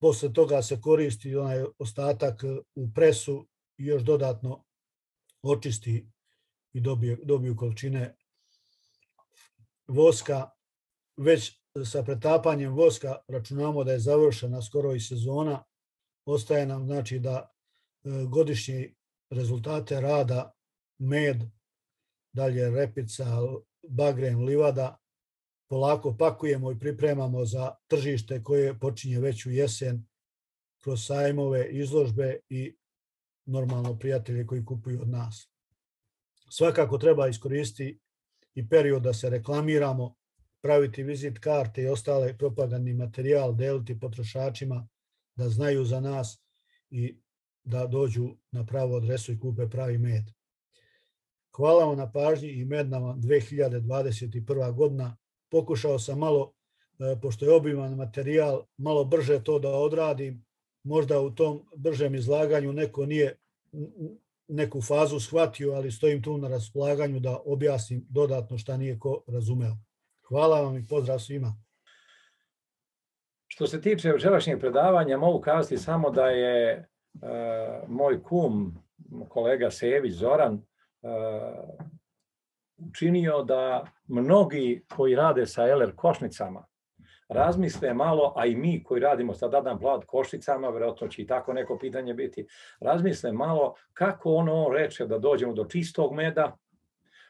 Posle toga se koristi onaj ostatak u presu i još dodatno očisti i dobiju, dobiju količine voska. Već sa pretapanjem voska računamo da je završena skoro i sezona. Ostaje nam znači da godišnji rezultate rada med, dalje repica, bagren, livada, polako pakujemo i pripremamo za tržište koje počinje već u jesen kroz sajmove, izložbe i normalno prijatelje koji kupuju od nas. Svakako treba iskoristiti i period da se reklamiramo, praviti vizit karte i ostale propagandni materijal, deliti potrošačima da znaju za nas i da dođu na pravu adresu i kupe pravi med. Hvala vam na pažnji i medna vam dve hiljade dvadeset prva godina. Pokušao sam malo, pošto je obiman materijal, malo brže to da odradim. Možda u tom bržem izlaganju neko nije neku fazu shvatio, ali stojim tu na raspolaganju da objasnim dodatno šta nije ko razumeo. Hvala vam i pozdrav svima. Što se tiče večerašnjeg predavanja, mogu kazati samo da je uh, moj kum, kolega Sević Zoran, uh, učinio da mnogi koji rade sa eler košnicama razmisle malo, a i mi koji radimo sa dadan plat košnicama, vjerojatno će i tako neko pitanje biti, razmisle malo kako ono reče da dođemo do čistog meda,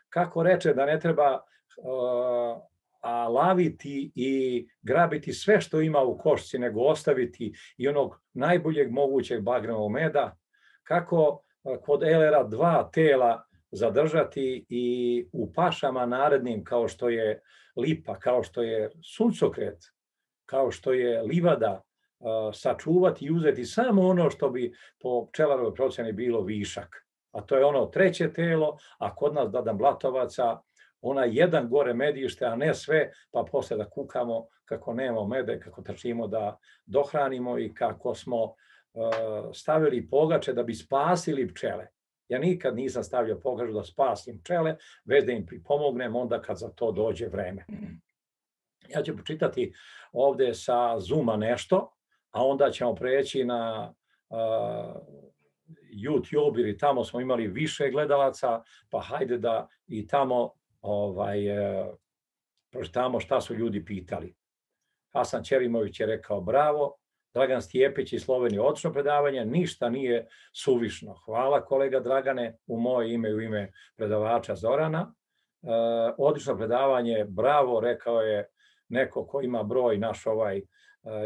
kako reče da ne treba uh, a laviti i grabiti sve što ima u košci, nego ostaviti i onog najboljeg mogućeg bagrenog meda, kako kod elera dva tela zadržati i u pašama narednim kao što je lipa, kao što je suncokret, kao što je livada, sačuvati i uzeti samo ono što bi po pčelarovoj procjeni bilo višak. A to je ono treće telo, a kod nas dadan blatovaca ona jedan gore medište, a ne sve, pa posle da kukamo kako nemamo mede, kako trčimo da dohranimo i kako smo uh, stavili pogače da bi spasili pčele. Ja nikad nisam stavio pogaču da spasim pčele, već da im pripomognem onda kad za to dođe vreme. Ja ću počitati ovde sa Zooma nešto, a onda ćemo preći na uh, YouTube, jer tamo smo imali više gledalaca, pa hajde da i tamo ovaj, e, pročitamo šta su ljudi pitali. Hasan Ćerimović je rekao bravo, Dragan Stijepić iz Slovenije odlično predavanje, ništa nije suvišno. Hvala kolega Dragane, u moje ime i u ime predavača Zorana. E, odlično predavanje, bravo, rekao je neko ko ima broj, naš ovaj e,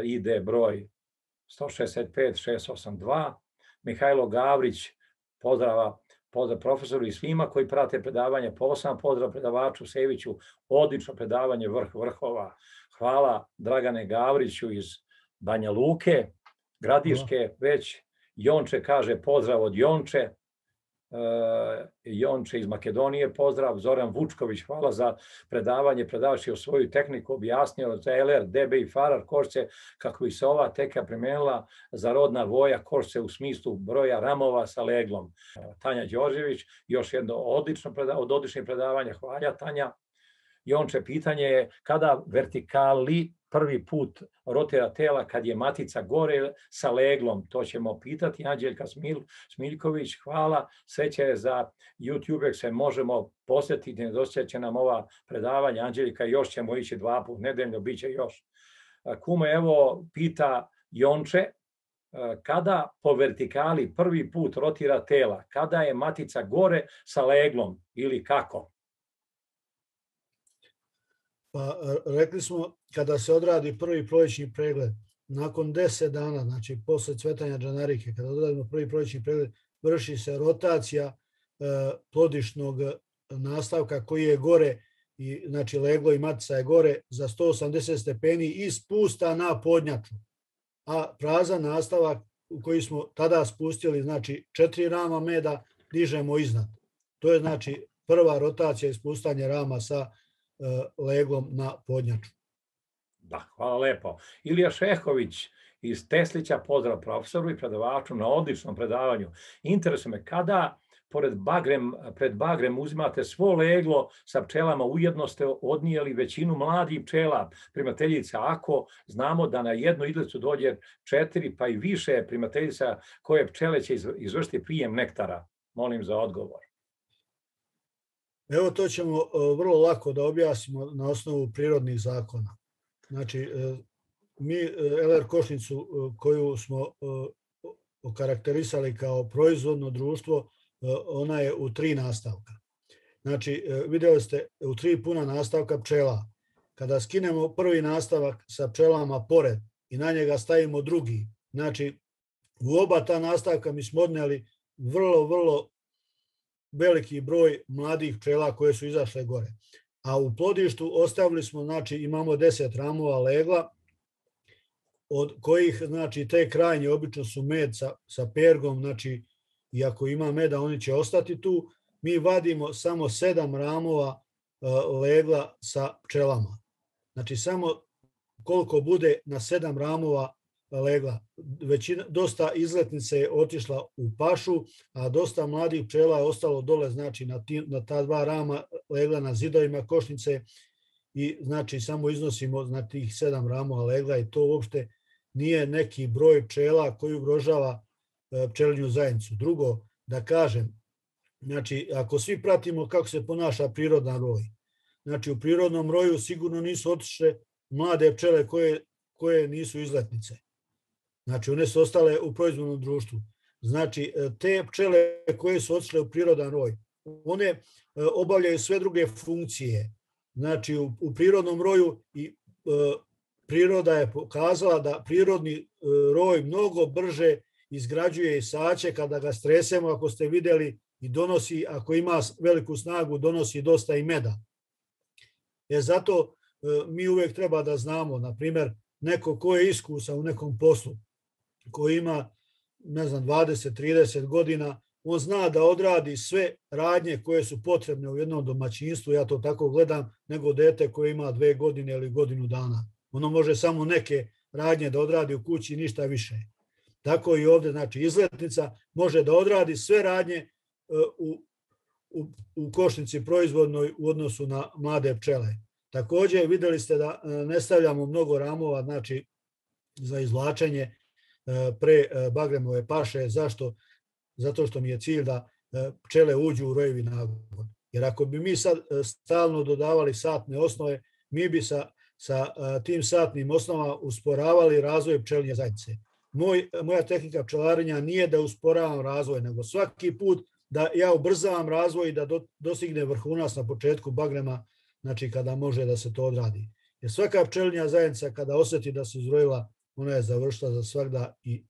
I D broj sto šezdeset pet šest osamdeset dva. Mihajlo Gavrić, pozdrava, pozdrav profesoru i svima koji prate predavanje, posebno pozdrav predavaču Seviću, odlično predavanje, vrh vrhova. Hvala Dragane Gavriću iz Banja Luke, Gradiške, već Jonče kaže pozdrav od Jonče, Jonče iz Makedonije, pozdrav, Zoran Vučković, hvala za predavanje, predavač je o svoju tehniku objasnio za L R, D B i Farar košce, kako bi se ova tehnika primenila za rodna voja košce u smislu broja ramova sa leglom. Tanja Đorđević, još jedno odlično predavanje, od odličnih predavanja, hvala Tanja. Jonče, pitanje je kada vertikali prvi put rotira tela kad je matica gore sa leglom, to ćemo pitati. Anđeljka Smil, Smiljković, hvala. Sveća je za YouTube, se možemo posjetiti, nedostaje će nam ova predavanja. Anđeljka, još ćemo ići dva put nedeljno, bit će još. Kume, evo, pita Jonče, kada po vertikali prvi put rotira tela, kada je matica gore sa leglom ili kako? Pa rekli smo kada se odradi prvi proljećni pregled, nakon deset dana, znači posle cvetanja džanarike, kada odradimo prvi proljećni pregled, vrši se rotacija e, plodišnog nastavka koji je gore, i, znači leglo i matica je gore za sto osamdeset stepeni i spusta na podnjaču. A prazan nastavak u koji smo tada spustili, znači četiri rama meda, dižemo iznad. To je znači prva rotacija i spustanje rama sa leglom na podnjaču. Da, hvala lepo. Ilija Šehović iz Teslića, pozdrav profesoru i predavaču na odličnom predavanju. Interesuje me, kada pored bagrem, pred bagrem uzimate svo leglo sa pčelama, ujedno ste odnijeli većinu mladih pčela, primateljica, ako znamo da na jednu idlicu dođe četiri pa i više primateljica, koje pčele će izvršiti prijem nektara? Molim za odgovor. Evo, to ćemo vrlo lako da objasnimo na osnovu prirodnih zakona. Znači, mi L R košnicu koju smo okarakterisali kao proizvodno društvo, ona je u tri nastavka. Znači, vidjeli ste u tri puna nastavka pčela. Kada skinemo prvi nastavak sa pčelama pored i na njega stavimo drugi, znači, u oba ta nastavka mi smo odnijeli vrlo, vrlo veliki broj mladih pčela koje su izašle gore. A u plodištu ostavili smo, znači imamo deset ramova legla, od kojih, znači, te krajnje obično su med sa, sa pergom, znači, i ako ima meda, oni će ostati tu. Mi vadimo samo sedam ramova uh, legla sa pčelama. Znači, samo koliko bude na sedam ramova legla. Većina, dosta izletnice je otišla u pašu, a dosta mladih pčela je ostalo dole, znači na, ti, na ta dva rama legla na zidovima košnice, i znači samo iznosimo na tih sedam ramova legla, i to uopšte nije neki broj pčela koji ugrožava pčelinju zajednicu. Drugo, da kažem, znači ako svi pratimo kako se ponaša prirodan roj, znači u prirodnom roju sigurno nisu otišle mlade pčele koje, koje nisu izletnice. Znači, one su ostale u proizvodnom društvu. Znači, te pčele koje su otišle u prirodan roj, one obavljaju sve druge funkcije. Znači, u, u prirodnom roju i e, priroda je pokazala da prirodni e, roj mnogo brže izgrađuje isaće kada ga stresemo, ako ste vidjeli, i donosi, ako ima veliku snagu, donosi dosta i meda. E, zato e, mi uvijek treba da znamo, na primjer, neko ko je iskusan u nekom poslu, koji ima, ne znam, dvadeset trideset godina, on zna da odradi sve radnje koje su potrebne u jednom domaćinstvu, ja to tako gledam, nego dete koje ima dve godine ili godinu dana. Ono može samo neke radnje da odradi u kući, ništa više. Tako i ovdje, znači, izletnica može da odradi sve radnje u, u, u košnici proizvodnoj u odnosu na mlade pčele. Također vidjeli ste da ne stavljamo mnogo ramova, znači, za izvlačenje pre bagremove paše. Zašto? Zato što mi je cilj da pčele uđu u rojevi nagon. Jer ako bi mi sad stalno dodavali satne osnove, mi bi sa, sa tim satnim osnovama usporavali razvoj pčelinje zajednice. Moj, moja tehnika pčelarenja nije da usporavam razvoj, nego svaki put da ja ubrzavam razvoj i da do, dostigne vrhunac na početku bagrema, znači kada može da se to odradi. Jer svaka pčelinja zajednica kada osjeti da se izrojila, ona je završila za svakda i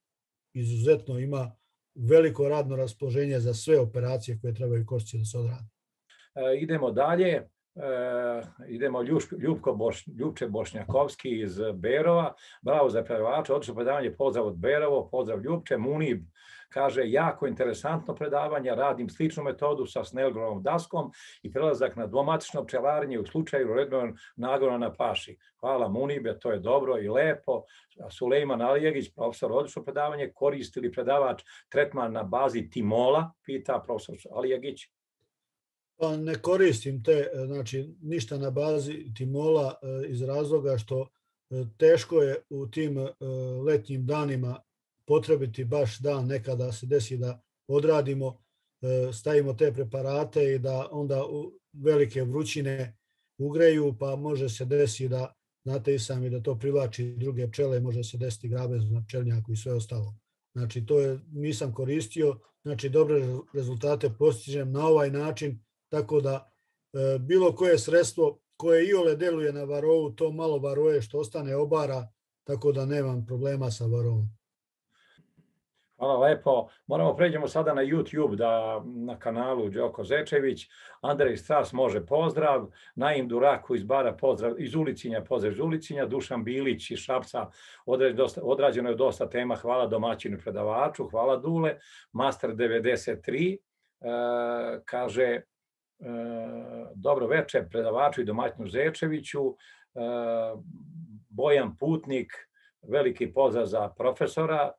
izuzetno ima veliko radno raspoloženje za sve operacije koje trebaju košci da se odrade. E, idemo dalje. E, idemo Ljuš, Ljubko Boš, Ljubče Bošnjakovski iz Berova. Bravo za predavača, odlično predavanje, pozdrav od Berovo, pozdrav Ljubče. Munib kaže, jako interesantno predavanje, radim sličnu metodu sa Snellgrovom daskom i prelazak na dvomatično pčelarenje u slučaju redovnog nagona na paši. Hvala Munibe, to je dobro i lepo. Sulejman Alijegić, profesor, odlično predavanje, koristi li predavač tretman na bazi timola, pita profesor Alijegić. Pa ne koristim te, znači ništa na bazi timola iz razloga što teško je u tim letnjim danima potrebiti baš dan nekada se desi da odradimo, stavimo te preparate i da onda velike vrućine ugreju, pa može se desiti da, znate i sami, da to privlači druge pčele, može se desiti grabez na pčelnjaku i sve ostalo. Znači to je, nisam koristio, znači dobre rezultate postižem na ovaj način, tako da e, bilo koje sredstvo koje iole deluje na varovu, to malo varoje što ostane obara, tako da nemam problema sa varovom. Hvala lepo. Moramo pređemo sada na YouTube, da na kanalu Đoko Zečević. Andrej Stras može pozdrav. Naim Duraku iz Bara pozdrav, iz Ulicinja pozdrav iz Ulicinja. Dušan Bilić iz Šapca, odrađeno je dosta tema. Hvala domaćinu i predavaču. Hvala Dule. Master devedeset tri e, kaže e, dobro večer predavaču i domaćinu Zečeviću. E, Bojan Putnik, veliki pozdrav za profesora.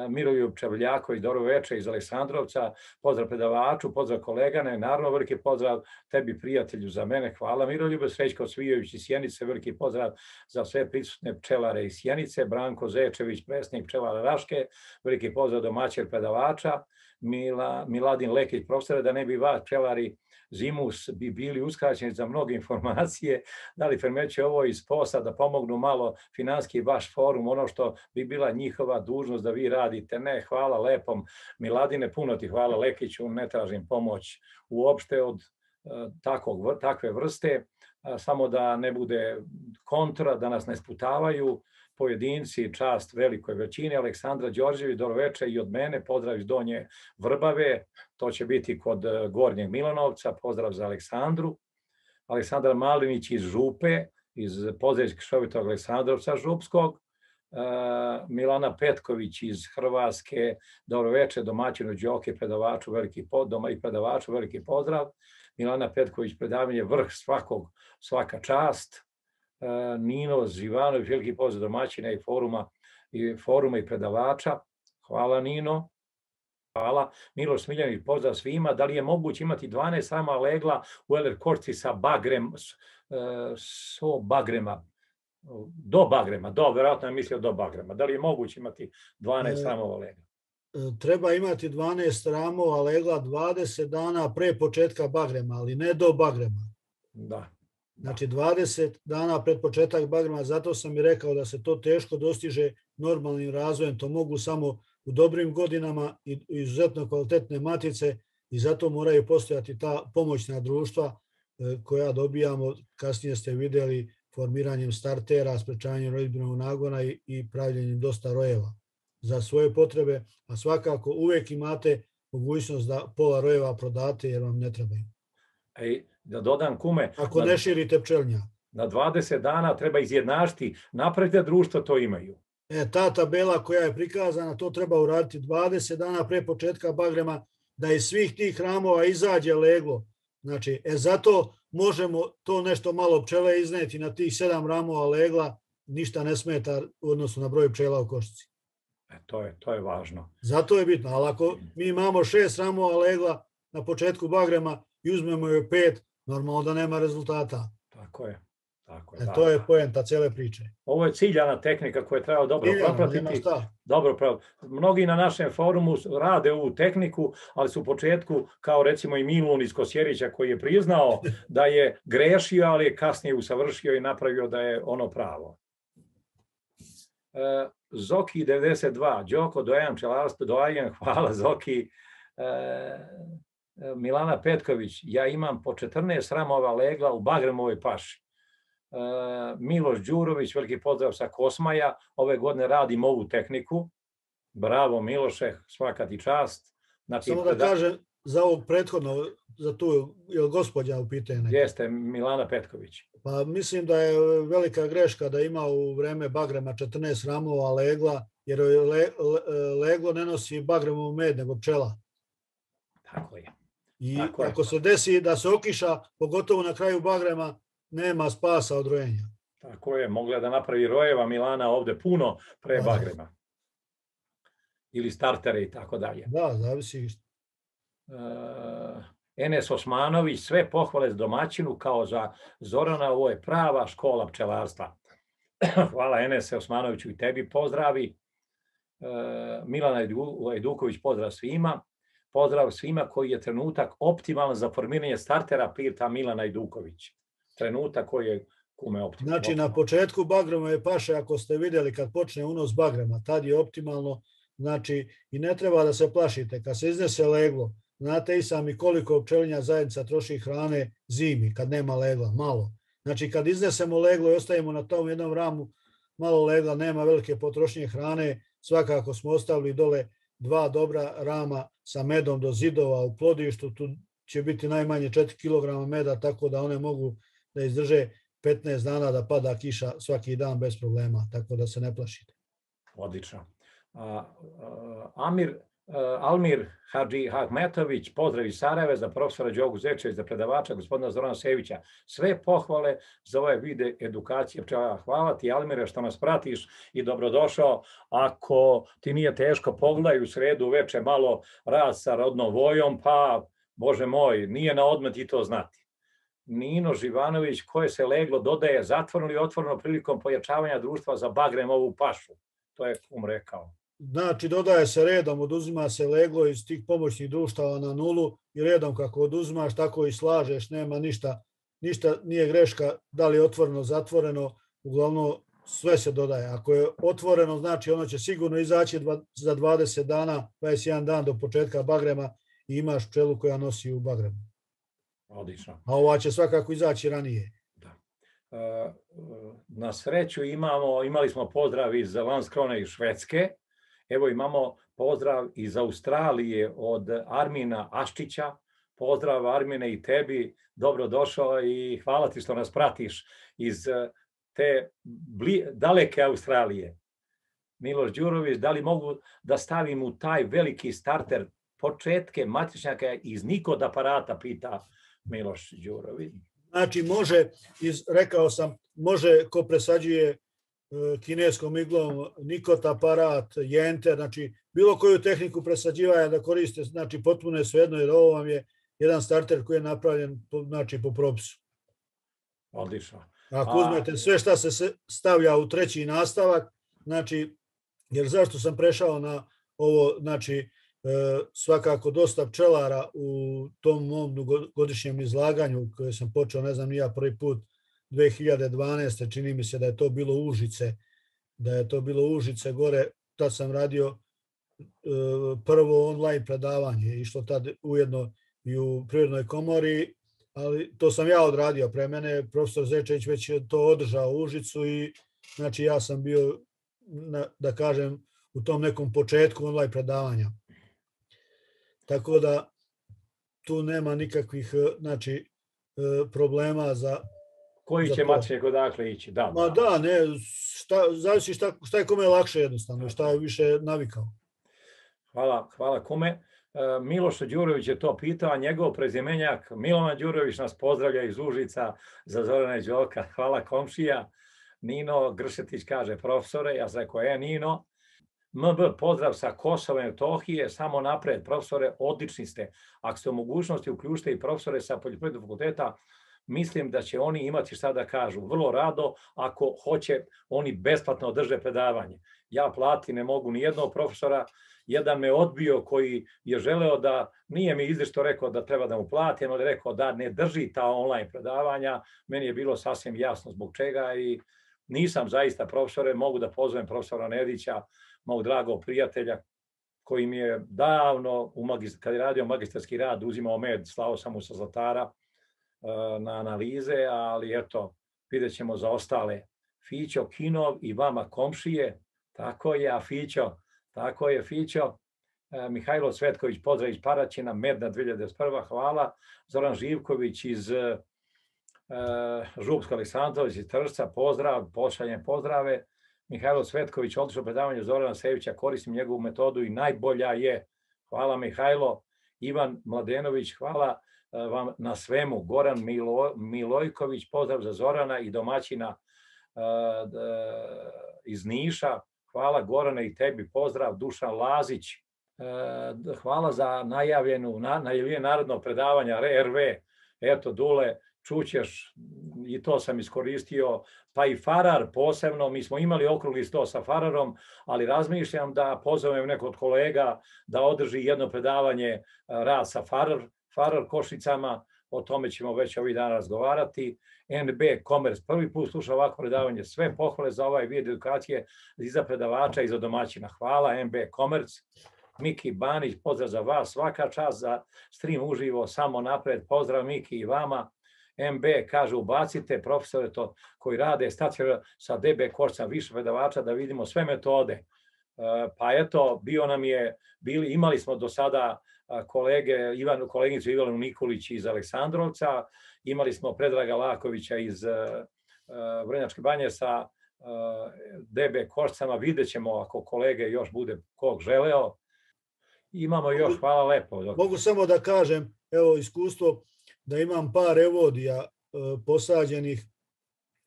Miroljub Čavljaković, dobro večer iz Aleksandrovca, pozdrav predavaču, pozdrav kolegane, naravno veliki pozdrav tebi prijatelju za mene, hvala Miroljube, Srećko Cvijović iz Sjenice, veliki pozdrav za sve prisutne pčelare iz Sjenice, Branko Zečević, predsjednik pčelara Raške, veliki pozdrav domaćeg predavača, Mila, Miladin Lekić, profesore, da ne bi vas pčelari zimus bi bili uskraćeni za mnoge informacije, da li primećuje ovo iz posla da pomognu malo finansijski vaš forum, ono što bi bila njihova dužnost da vi radite. Ne, hvala lepom Miladine, puno ti hvala Lekiću, ne tražim pomoć uopšte od takvog, takve vrste, samo da ne bude kontra, da nas ne sputavaju pojedinci, čast velikoj većini. Aleksandra Đorđević, dobro večer i od mene, pozdrav iz Donje Vrbave, to će biti kod Gornjeg Milanovca, pozdrav za Aleksandru. Aleksandar Malinić iz Župe, iz Poželjskog Šovitog Aleksandrovca Župskog. Milana Petković iz Hrvatske, dobro večer, domaćinu Đoke, predavaču, veliki doma i predavaču, veliki pozdrav. Milana Petković, predavanje vrh svakog, svaka čast. Nino Živanović, veliki pozdrav domaćina i foruma, i foruma i predavača. Hvala Nino. Hvala. Miloš Smiljanić, pozdrav svima. Da li je moguće imati dvanaest sama legla u Eler Korci sa bagrem, so bagrema, do bagrema, do, verovatno je mislio do bagrema. Da li je moguće imati dvanaest ramova legla? Treba imati dvanaest ramova legla dvadeset dana pre početka bagrema, ali ne do bagrema. Da. Znači dvadeset dana pred početak bagrema, zato sam i rekao da se to teško dostiže normalnim razvojem, to mogu samo u dobrim godinama i izuzetno kvalitetne matice i zato moraju postojati ta pomoćna društva koja dobijamo, kasnije ste vidjeli, formiranjem startera, sprečavanjem roditeljnog nagona i, i pravljenjem dosta rojeva za svoje potrebe, a svakako uvijek imate mogućnost da pola rojeva prodate jer vam ne trebaju. Ej, da dodam kume, ako ne širite pčelnja. Na dvadeset dana treba izjednačiti, napravite društvo, to imaju. E, ta tabela koja je prikazana, to treba uraditi dvadeset dana pre početka bagrema, da iz svih tih ramova izađe leglo. Znači, e, zato možemo to nešto malo pčele izneti na tih sedam ramova legla, ništa ne smeta odnosno na broj pčela u košci. E, to je, to je važno. Zato je bitno, ali ako mi imamo šest ramova legla na početku bagrema i uzmemo joj pet, normalno da nema rezultata. Tako je. Tako je, e, da, to je da. poenta cele priče. Ovo je ciljana tehnika koju treba dobro Ciljano, propratiti. Dobro, prav. Mnogi na našem forumu rade ovu tehniku, ali su u početku, kao recimo i Milun iz Kosjerića koji je priznao da je grešio, ali je kasnije usavršio i napravio da je ono pravo. E, Zoki devedeset dva, Đoko, dojan, pčelarstvo, dojan, hvala Zoki. E, Milana Petković, ja imam po četrnaest ramova legla u bagremovoj paši. Miloš Đurović, veliki pozdrav sa Kosmaja, ove godine radim ovu tehniku. Bravo Miloše, svaka ti čast. Znači, samo da kažem za ovog prethodno, za tu, je li gospođa u pitanju? Jeste, Milana Petković. Pa mislim da je velika greška da ima u vreme bagrema četrnaest ramova legla, jer le, le, leglo ne nosi bagremovu med, nego pčela. Tako je. I Tako ako je. se desi da se okiša, pogotovo na kraju bagrema, nema spasa od rojenja. Tako je, mogla da napravi rojeva Milana ovde puno pre Da. bagrema. Ili startere i tako dalje. Da, zavisi. Uh, Enes Osmanović, sve pohvale s domaćinu kao za Zorana, ovo je prava škola pčelarstva. Hvala Enese Osmanoviću i tebi, pozdravi. Uh, Milana Ajduković, pozdrav svima. Pozdrav svima koji je trenutak optimalan za formiranje startera, pita Milana Ajduković. Trenutak koji je kume optimalan. Znači, na početku bagrema je paše, ako ste vidjeli kad počne unos bagrema, tad je optimalno. Znači, i ne treba da se plašite. Kad se iznese leglo, znate i sami koliko pčelinja zajednica troši hrane zimi, kad nema legla, malo. Znači, kad iznesemo leglo i ostavimo na tom jednom ramu malo legla, nema velike potrošnje hrane, svakako smo ostavili dole dva dobra rama sa medom do zidova u plodištu, tu će biti najmanje četiri kilograma meda, tako da one mogu da izdrže petnaest dana da pada kiša svaki dan bez problema, tako da se ne plašite. Odlično. Uh, uh, Amir, uh, Almir Hadži Ahmetović, pozdrav iz Sarajeva za profesora Đogu Zečević, za predavača gospodina Zorana Sevića. Sve pohvale za ove vide edukacije pčelara. Hvala ti, Almire, što nas pratiš i dobrodošao. Ako ti nije teško, pogledaj u sredu uveče malo raz sa rodnom vojom, pa, Bože moj, nije na odmet i to znati. Nino Živanović, koje se leglo dodaje zatvoreno ili otvoreno prilikom pojačavanja društva za bagrem ovu pašu. To je kum rekao. Znači, dodaje se redom, oduzima se leglo iz tih pomoćnih društava na nulu i redom kako oduzimaš, tako i slažeš, nema ništa, ništa nije greška, da li je otvoreno, zatvoreno, uglavnom sve se dodaje. Ako je otvoreno, znači ono će sigurno izaći za dvadeset dana, dvadeset jedan dan do početka bagrema i imaš pčelu koja nosi u bagremu. Odlično. A ova će svakako izaći ranije. Na sreću imamo, imali smo pozdrav iz Landskrone i Švedske. Evo imamo pozdrav iz Australije od Armina Aščića. Pozdrav Armine i tebi, dobrodošao i hvala ti što nas pratiš iz te bli, daleke Australije. Miloš Đurović, da li mogu da stavim u taj veliki starter početke matičnjaka iz Nikod aparata, pita Miloš Đurović. Znači, može, iz, rekao sam, može ko presađuje e, kineskom iglom Nikot aparat, jenter, znači bilo koju tehniku presađivanja da koriste, znači potpuno je svejedno, jer ovo vam je jedan starter koji je napravljen po, znači, po propisu. Odlično. Ako uzmete sve šta se stavlja u treći nastavak, znači, jer zašto sam prešao na ovo, znači, svakako dosta pčelara u tom mom godišnjem izlaganju koje sam počeo, ne znam ni ja, prvi put dve hiljade dvanaeste. čini mi se da je to bilo Užice, da je to bilo Užice gore, tad sam radio prvo online predavanje, išlo tad ujedno i u Prirodnoj komori, ali to sam ja odradio, pre mene profesor Zečević već je to održao u Užicu i znači ja sam bio, da kažem, u tom nekom početku online predavanja. Tako da tu nema nikakvih, znači, problema za... Koji će mačnjak odakle ići? Da, Ma da, ne, šta, zavisi šta, šta je kome lakše jednostavno, šta je više navikao. Hvala, hvala kome. Miloš Đurović je to pitao, njegov prezimenjak Milovan Đurović nas pozdravlja iz Užica za Zorana i Đoka. Hvala komšija. Nino Gršetić kaže profesore, ja sam rekao, je Nino. M B, pozdrav sa Kosova i Metohije, samo napred, profesore, odlični ste. Ako ste u mogućnosti, uključite i profesore sa Poljoprivrednog fakulteta, mislim da će oni imati šta da kažu. Vrlo rado, ako hoće, oni besplatno održe predavanje. Ja plati ne mogu ni jednog profesora, jedan me odbio koji je želeo da, nije mi izričito rekao da treba da mu platim, ali rekao da ne drži ta online predavanja, meni je bilo sasvim jasno zbog čega i nisam zaista profesore, mogu da pozovem profesora Nedića, mog dragog prijatelja, koji mi je davno, u magist, kad je radio magistarski rad, uzimao med, slao sam mu sa Zlatara uh, na analize, ali eto, vidjet ćemo za ostale. Fićo Kinov i vama komšije, tako je, a Fićo, Tako je, Fićo. Mihajlo Cvetković, pozdrav iz Paraćina, Medna dve hiljade prva, hvala. Zoran Živković iz uh, Župsko Aleksandrović iz Tršca, pozdrav, pošaljem pozdrave. Mihajlo Cvetković, odlično predavanje Zorana Sevića, koristim njegovu metodu i najbolja je. Hvala Mihajlo. Ivan Mladenović, hvala vam na svemu. Goran Milo, Milojković, pozdrav za Zorana i domaćina uh, iz Niša. Hvala Gorane i tebi, pozdrav. Dušan Lazić, uh, hvala za najavljenu, na, najavljeno narodno predavanja R V. Eto, Dule, čućeš, i to sam iskoristio, pa i Farar posebno, mi smo imali okrugli sto sa Fararom, ali razmišljam da pozovem neko od kolega da održi jedno predavanje rad sa Farar, Farar Košicama, o tome ćemo već ovih dana razgovarati. N B Commerce, prvi put sluša ovako predavanje, sve pohvale za ovaj vid edukacije i za predavača i za domaćina. Hvala N B Commerce. Miki Banić, pozdrav za vas, svaka čast za stream uživo, samo napred, pozdrav Miki i vama. M B kaže ubacite profesore to koji rade stacionarno sa D B Košicama više predavača da vidimo sve metode. Pa eto, bio nam je, bili, imali smo do sada kolege, Ivan, koleginicu Ivanu Nikolić iz Aleksandrovca, imali smo Predraga Lakovića iz Vrnjačke banje sa D B Košicama, vidjet ćemo ako kolege još bude kog želeo. Imamo još, hvala lepo. Mogu samo da kažem, evo iskustvo, da imam par evodija e, posađenih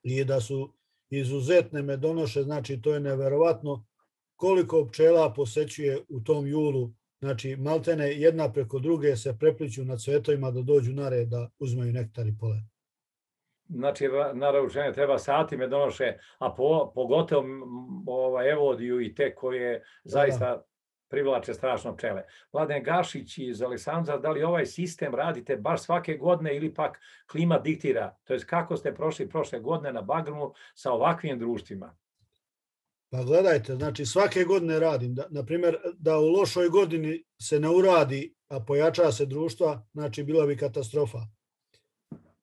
i da su izuzetne medonoše, znači to je neverovatno koliko pčela posećuje u tom julu, znači maltene jedna preko druge se prepliću na cvetovima da dođu na red da uzmeju nektar i pole. Znači, naravno, treba sati medonoše, a po, pogotovo ovaj, evodiju i te koje zaista da. privlače strašno pčele. Mladen Gašić iz Aleksandra, da li ovaj sistem radite baš svake godine ili pak klima diktira? To jest kako ste prošli prošle godine na Bagrumu sa ovakvim društvima? Pa gledajte, znači svake godine radim. Da, na primjer, da u lošoj godini se ne uradi, a pojača se društva, znači bila bi katastrofa.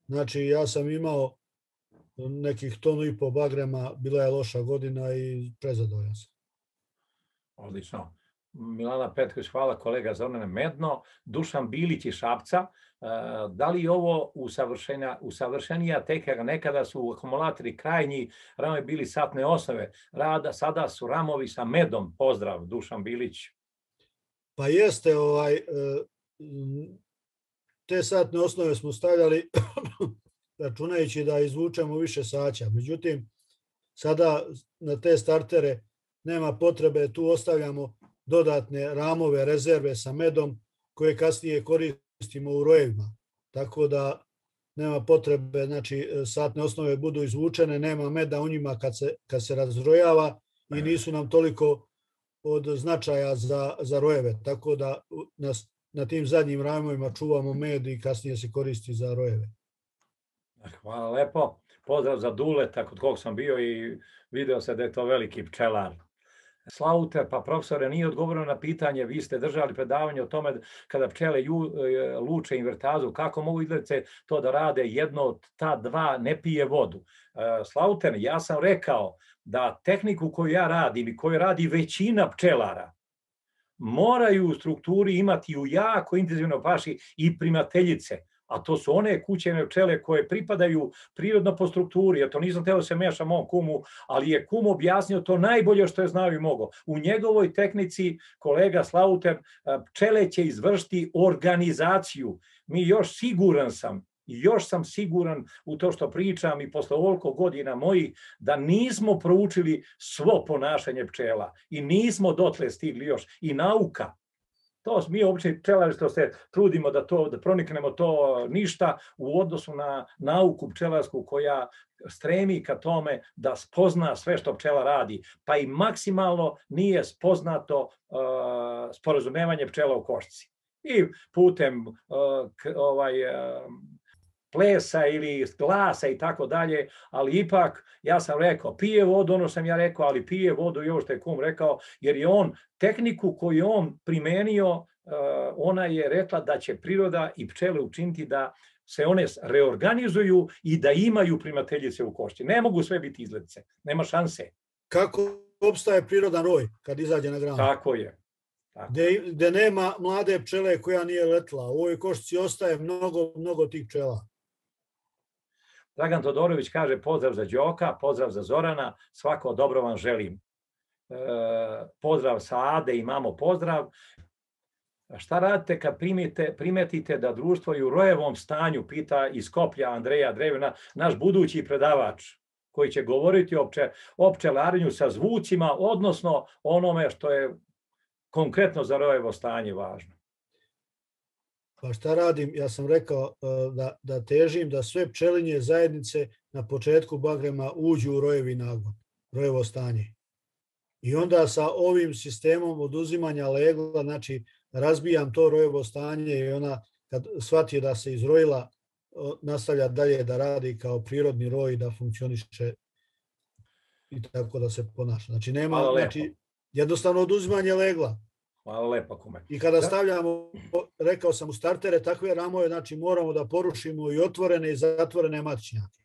Znači ja sam imao nekih tonu i po bagrema, bila je loša godina i prezadovoljan sam. Odlično. Milana Petković, hvala kolega Zorane Medno. Dušan Bilić iz Šapca, da li ovo usavršenija tehnika, nekada su akumulatori krajnji, ramovi bili satne osnove, rada, sada su ramovi sa medom, pozdrav Dušan Bilić. Pa jeste, ovaj, te satne osnove smo stavljali računajući da izvučemo više saća, međutim sada na te startere nema potrebe, tu ostavljamo dodatne ramove, rezerve sa medom koje kasnije koristimo u rojevima. Tako da nema potrebe, znači satne osnove budu izvučene, nema meda u njima kad se, kad se razrojava i nisu nam toliko od značaja za, za rojeve. Tako da na, na tim zadnjim ramovima čuvamo med i kasnije se koristi za rojeve. Hvala lepo. Pozdrav za Duleta kod kog sam bio i video se da je to veliki pčelar. Slaute, pa profesore, nije odgovoreno na pitanje, vi ste držali predavanje o tome kada pčele ju, luče invertazu, kako mogu izgledati to da rade, jedno od ta dva ne pije vodu. Slauten, ja sam rekao da tehniku koju ja radim i koju radi većina pčelara, moraju u strukturi imati u jako intenzivnoj paši i primateljice, a to su one kućene pčele koje pripadaju prirodno po strukturi, jer to nisam teo da se mešam mom kumu, ali je kum objasnio to najbolje što je znao i mogao. U njegovoj tehnici, kolega Slauter, pčele će izvršiti organizaciju. Mi još siguran sam, još sam siguran u to što pričam i posle ovoliko godina mojih, da nismo proučili svo ponašanje pčela i nismo dotle stigli još. I nauka. To mi obični pčelari što se trudimo da to da proniknemo to ništa u odnosu na nauku pčelarsku koja stremi ka tome da spozna sve što pčela radi, pa i maksimalno nije spoznato uh, sporazumevanje pčela u košci. I putem uh, ovaj uh, plesa ili glasa i tako dalje, ali ipak ja sam rekao, pije vodu, ono sam ja rekao, ali pije vodu i ovo što je kum rekao, jer je on tehniku koju on primenio, ona je rekla da će priroda i pčele učiniti da se one reorganizuju i da imaju primateljice u košći. Ne mogu sve biti izgledce, nema šanse. Kako opstaje prirodan roj kad izađe na granu. Tako je. Tako. Gde, gde nema mlade pčele koja nije letla. U ovoj košnici ostaje mnogo, mnogo tih pčela. Dragan Todorović kaže pozdrav za Đoka, pozdrav za Zorana, svako dobro vam želim. E, pozdrav sa Ade, imamo pozdrav. Šta radite kad primite, primetite da društvo je u rojevom stanju, pita iz Skoplja Andreja Drevina, naš budući predavač, koji će govoriti o, pče, o pčelarinju sa zvucima, odnosno onome što je konkretno za rojevo stanje važno. Pa šta radim? Ja sam rekao da, da težim da sve pčelinje zajednice na početku bagrema uđu u rojevi nagon, rojevo stanje. I onda sa ovim sistemom oduzimanja legla, znači razbijam to rojevo stanje i ona kad shvati da se izrojila, nastavlja dalje da radi kao prirodni roj, da funkcioniše i tako da se ponaša. Znači nema, znači jednostavno oduzimanje legla. Hvala lepo, kume. I kada stavljamo, rekao sam, u startere takve ramove, znači moramo da porušimo i otvorene i zatvorene matičnjake.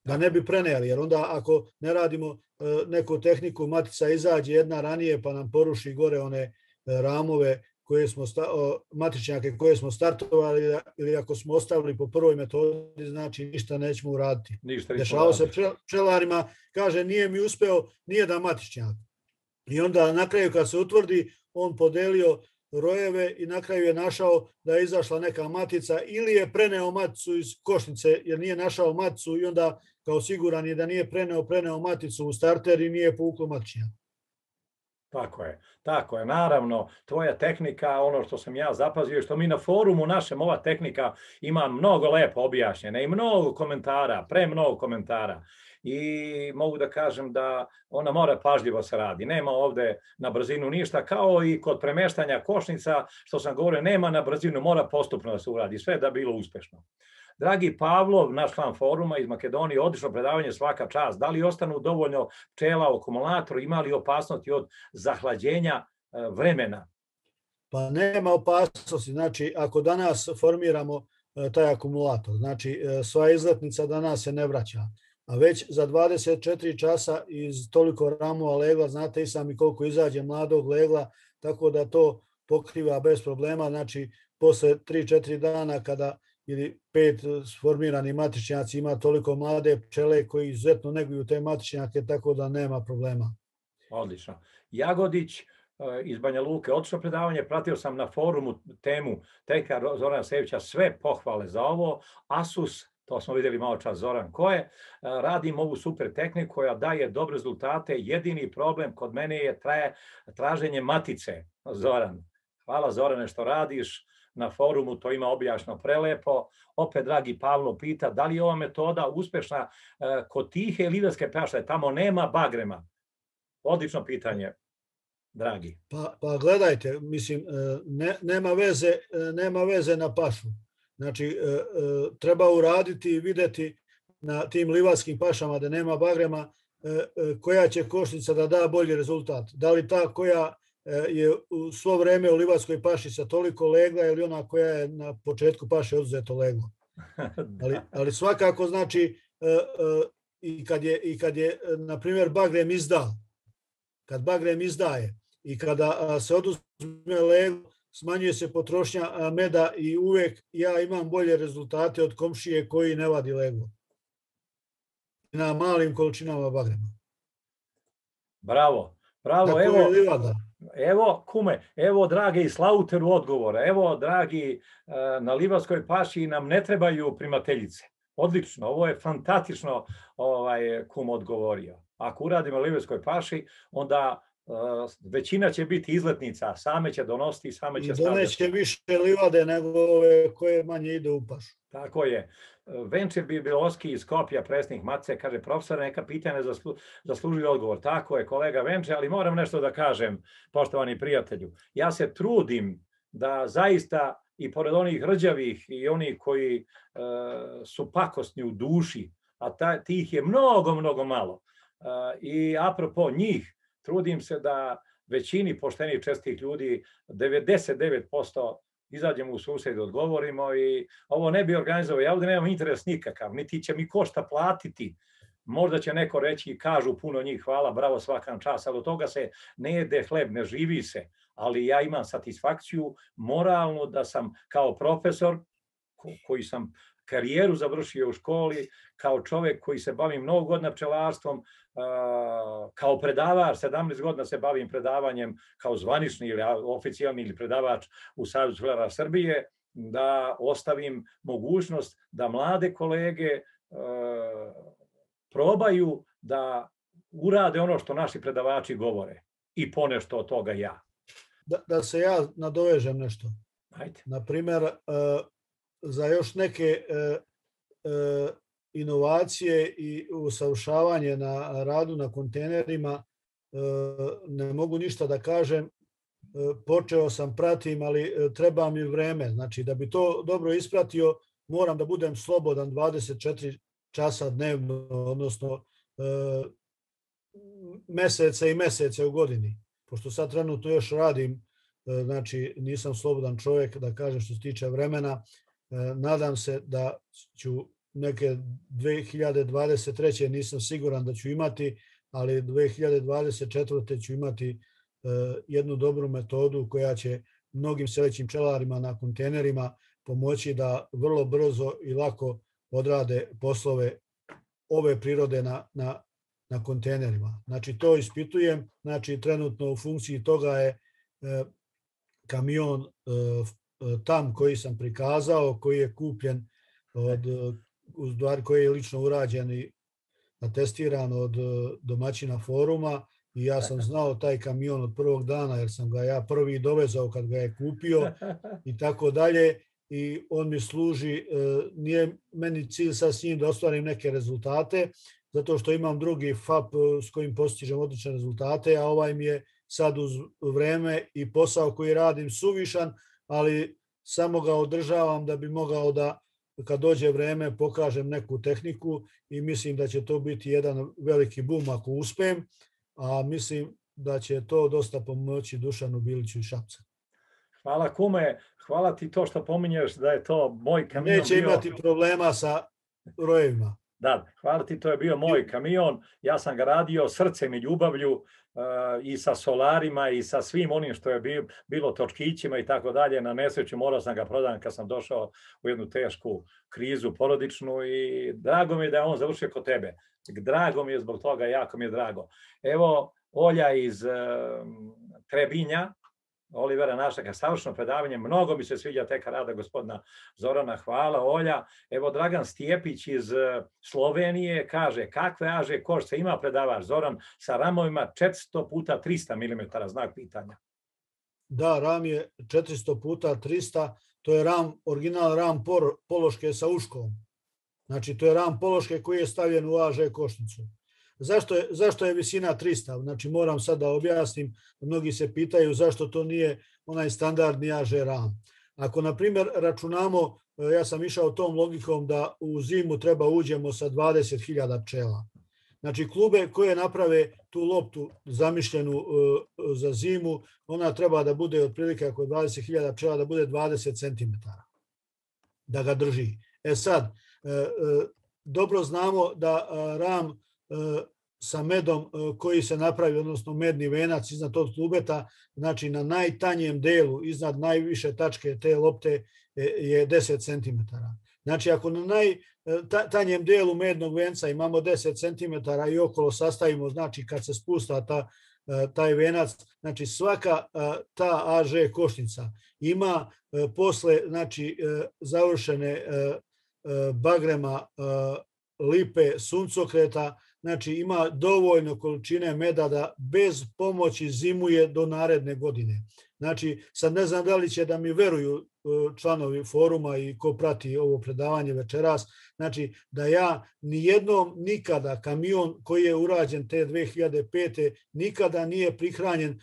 Da ne bi preneli, jer onda ako ne radimo neku tehniku, matica izađe jedna ranije pa nam poruši gore one ramove koje smo, matičnjake koje smo startovali, ili ako smo ostavili po prvoj metodi, znači ništa nećemo uraditi. Dešavao se pčelarima, kaže nije mi uspeo nijedan matičnjak. I onda na kraju kad se utvrdi, on podelio rojeve i na kraju je našao da je izašla neka matica ili je preneo maticu iz košnice jer nije našao maticu i onda kao siguran je da nije preneo, preneo maticu u starter i nije povuklo matičnjak. Tako je, tako je. Naravno, tvoja tehnika, ono što sam ja zapazio, što mi na forumu našem, ova tehnika ima mnogo lepo objašnjene i mnogo komentara, pre mnogo komentara. I mogu da kažem da ona mora pažljivo se radi. Nema ovde na brzinu ništa, kao i kod premeštanja košnica, što sam govorio, nema na brzinu, mora postupno da se uradi, sve da bilo uspešno. Dragi Pavlov, naš član foruma iz Makedonije, odlično predavanje, svaka čast. Da li ostanu dovoljno pčela u akumulatoru, ima li opasnosti od zahlađenja vremena? Pa nema opasnosti. Znači, ako danas formiramo taj akumulator, znači sva izletnica danas se ne vraća, a već za dvadeset četiri časa iz toliko ramova legla, znate i sami koliko izađe mladog legla, tako da to pokriva bez problema. Znači, posle tri četiri dana kada ili pet sformirani matičnjaci ima toliko mlade pčele koji izuzetno neguju te matičnjake, tako da nema problema. Odlično. Jagodić iz Banja Luke, odlično predavanje, pratio sam na forumu temu tehnika Zorana Sevića, sve pohvale za ovo. Asus, to smo vidjeli malo čas Zoran ko je, radim ovu super tehniku koja daje dobre rezultate. Jedini problem kod mene je traje, traženje matice. Zoran, hvala Zorane što radiš. Na forumu to ima objašnjeno prelepo. Opet, dragi Pavlo pita, da li je ova metoda uspešna kod tihe ili lidarske paše? Tamo nema bagrema. Odlično pitanje, dragi. Pa, pa gledajte, mislim, ne, nema, veze, nema veze na pašu. Znači, treba uraditi i videti na tim livarskim pašama da nema bagrema koja će košnica da da bolji rezultat. Da li ta koja je u svo vreme u livarskoj paši sa toliko legla ili ona koja je na početku paše oduzeto leglo. Ali, ali svakako znači i kad je, i kad je na primjer bagrem izda, kad bagrem izdaje i kada se oduzme leglo, smanjuje se potrošnja meda i uvek ja imam bolje rezultate od komšije koji ne vadi leglo na malim količinama bagrema. Bravo, bravo, tako evo. Je livada. Evo, kume, evo, dragi iz Slauteru odgovora, evo, dragi, na livarskoj paši nam ne trebaju primateljice. Odlično, ovo je fantastično ovaj, kum odgovorio. Ako uradimo na livarskoj paši, onda uh, većina će biti izletnica, same će donositi, same će stavljati. I doneće više livade nego ove koje manje ide u pašu. Tako je. Venčer Bibelovski iz Skopja, predsjednik Matice, kaže, profesor, neka pitanja zaslu, zaslužuju odgovor. Tako je, kolega Venčer, ali moram nešto da kažem, poštovani prijatelju. Ja se trudim da zaista i pored onih rđavih i onih koji e, su pakosni u duši, a ta, tih je mnogo, mnogo malo. E, I apropo njih, trudim se da većini poštenih čestih ljudi, devedeset devet posto izađemo u susred, odgovorimo i ovo ne bi organizovao. Ja ovdje nemam interes nikakav, niti će mi košta platiti Možda će neko reći i kažu puno njih, hvala, bravo, svaka čast, ali od toga se ne jede hleb, ne živi se. Ali ja imam satisfakciju moralnu da sam kao profesor, koji sam karijeru završio u školi, kao čovjek koji se bavi mnogo godina pčelarstvom, kao predavač, sedamnaest godina se bavim predavanjem kao zvanični ili oficijalni ili predavač u Savezu pčelara Srbije, da ostavim mogućnost da mlade kolege probaju da urade ono što naši predavači govore i ponešto od toga ja. Da, da se ja nadovežem nešto. Ajde. Naprimjer, za još neke inovacije i usavršavanje na radu na kontejnerima ne mogu ništa da kažem. Počeo sam, pratim, ali treba mi vreme. Znači, da bi to dobro ispratio, moram da budem slobodan dvadeset četiri časa dnevno, odnosno mesece i mesece u godini. Pošto sad trenutno još radim, znači nisam slobodan čovjek, da kažem, što se tiče vremena. Nadam se da ću neke dve hiljade dvadeset treće nisam siguran da ću imati, ali dve hiljade dvadeset četvrte ću imati jednu dobru metodu koja će mnogim selećim pčelarima na kontejnerima pomoći da vrlo brzo i lako odrade poslove ove prirode na, na, na kontejnerima. Znači to ispitujem, znači trenutno u funkciji toga je kamion tam koji sam prikazao, koji je kupljen od, koji je lično urađen i atestiran od domaćina foruma i ja sam znao taj kamion od prvog dana jer sam ga ja prvi dovezao kad ga je kupio i tako dalje i on mi služi, nije meni cilj sad s njim da ostvarim neke rezultate, zato što imam drugi F A P s kojim postižem odlične rezultate, a ovaj mi je sad uz vreme i posao koji radim suvišan, ali samo ga održavam da bi mogao da kad dođe vreme pokažem neku tehniku i mislim da će to biti jedan veliki bum ako uspem, a mislim da će to dosta pomoći Dušanu Biliću i Šapca. Hvala kume, hvala ti to što pominješ da je to moj kamion. Neće imati problema sa rojevima. Da, hvala ti, to je bio moj kamion, ja sam ga radio srcem i ljubavlju uh, i sa solarima i sa svim onim što je bilo, bilo točkićima i tako dalje. Na nesreću morao sam ga prodati kad sam došao u jednu tešku krizu porodičnu i drago mi je da je on završio kod tebe. Drago mi je zbog toga, jako mi je drago. Evo Olja iz uh, Trebinja, Olivera Našaka, savršeno predavanje, mnogo mi se sviđa teka rada gospodina Zorana, hvala Olja. Evo Dragan Stijepić iz Slovenije kaže, kakve aže košce ima predavač Zoran sa ramovima četiristo puta trista milimetara, znak pitanja. Da, ram je četiristo puta trista, to je ram, original ram pološke sa uškom. Znači to je ram pološke koji je stavljen u až košnicu. Zašto je, zašto je visina trista? Znači moram sad da objasnim, mnogi se pitaju zašto to nije onaj standardni až ram. Ako na primjer računamo, ja sam išao tom logikom da u zimu treba uđemo sa dvadeset hiljada pčela. Znači klube koje naprave tu loptu zamišljenu za zimu, ona treba da bude otprilike ako je dvadeset hiljada pčela da bude dvadeset centimetara da ga drži. E sad, dobro znamo da ram sa medom koji se napravi, odnosno medni venac iznad tog klubeta, znači na najtanjem delu, iznad najviše tačke te lopte je deset centimetara. Znači ako na najtanjem delu mednog venca imamo deset centimetara i okolo sastavimo, znači kad se spusta ta, taj venac, znači svaka ta až košnica ima posle znači, završene bagrema, lipe, suncokreta, znači ima dovoljno količine meda da bez pomoći zimuje do naredne godine. Znači, sad ne znam da li će da mi veruju članovi foruma i ko prati ovo predavanje večeras, znači da ja nijednom nikada kamion koji je urađen te dve hiljade pete nikada nije prihranjen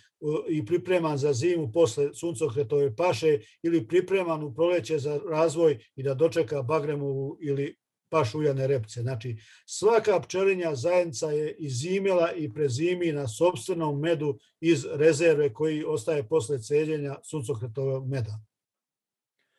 i pripreman za zimu posle suncokretove paše ili pripreman u proleće za razvoj i da dočeka bagremovu ili paš uljane repce. Znači, svaka pčelinja zajednica je izimela i prezimi na sopstvenom medu iz rezerve koji ostaje posle celjenja suncokretovog meda.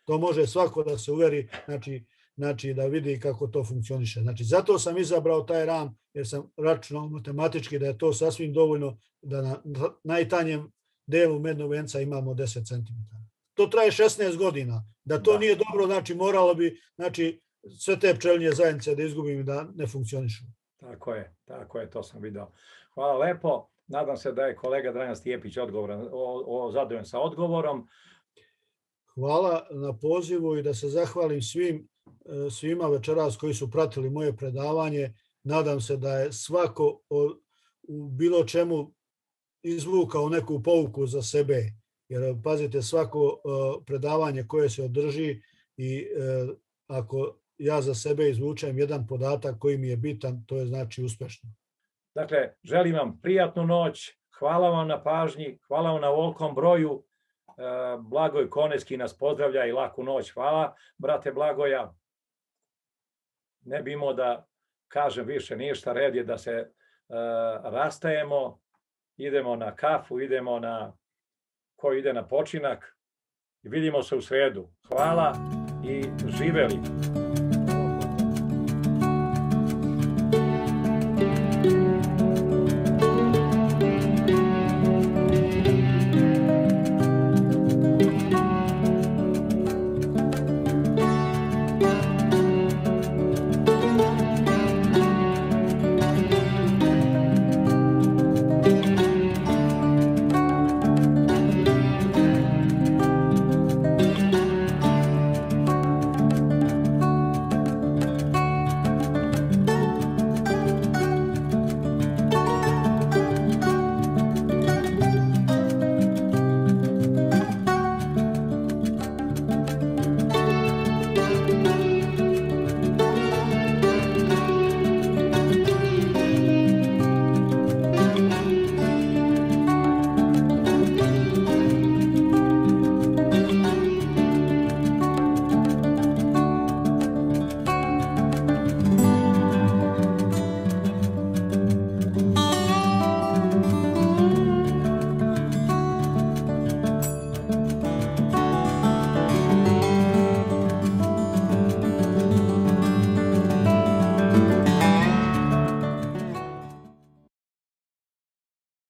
To može svako da se uveri. Znači, znači da vidi kako to funkcioniše. Znači zato sam izabrao taj ram jer sam računao matematički da je to sasvim dovoljno da na najtanjem delu mednog venca imamo deset centimetara. To traje šesnaest godina. Da to da. Nije dobro, znači moralo bi znači, sve te pčelinje zajednice da izgubim i da ne funkcionišu. Tako je, tako je, to sam video. Hvala lepo. Nadam se da je kolega Dragan Stijepić odgovoran, o, o, zadovoljan sa odgovorom. Hvala na pozivu i da se zahvalim svim, svima večeras koji su pratili moje predavanje. Nadam se da je svako u bilo čemu izvukao neku pouku za sebe. Jer pazite, svako predavanje koje se održi i ako ja za sebe izvučem jedan podatak koji mi je bitan, to je znači uspešno. Dakle, želim vam prijatnu noć, hvala vam na pažnji, hvala vam na ovolikom broju. Blagoj Konecki nas pozdravlja i laku noć. Hvala, brate Blagoja. Ne bi imao da kažem više ništa, red je da se uh, rastajemo, idemo na kafu, idemo na, ko ide na počinak i vidimo se u sredu. Hvala i živeli.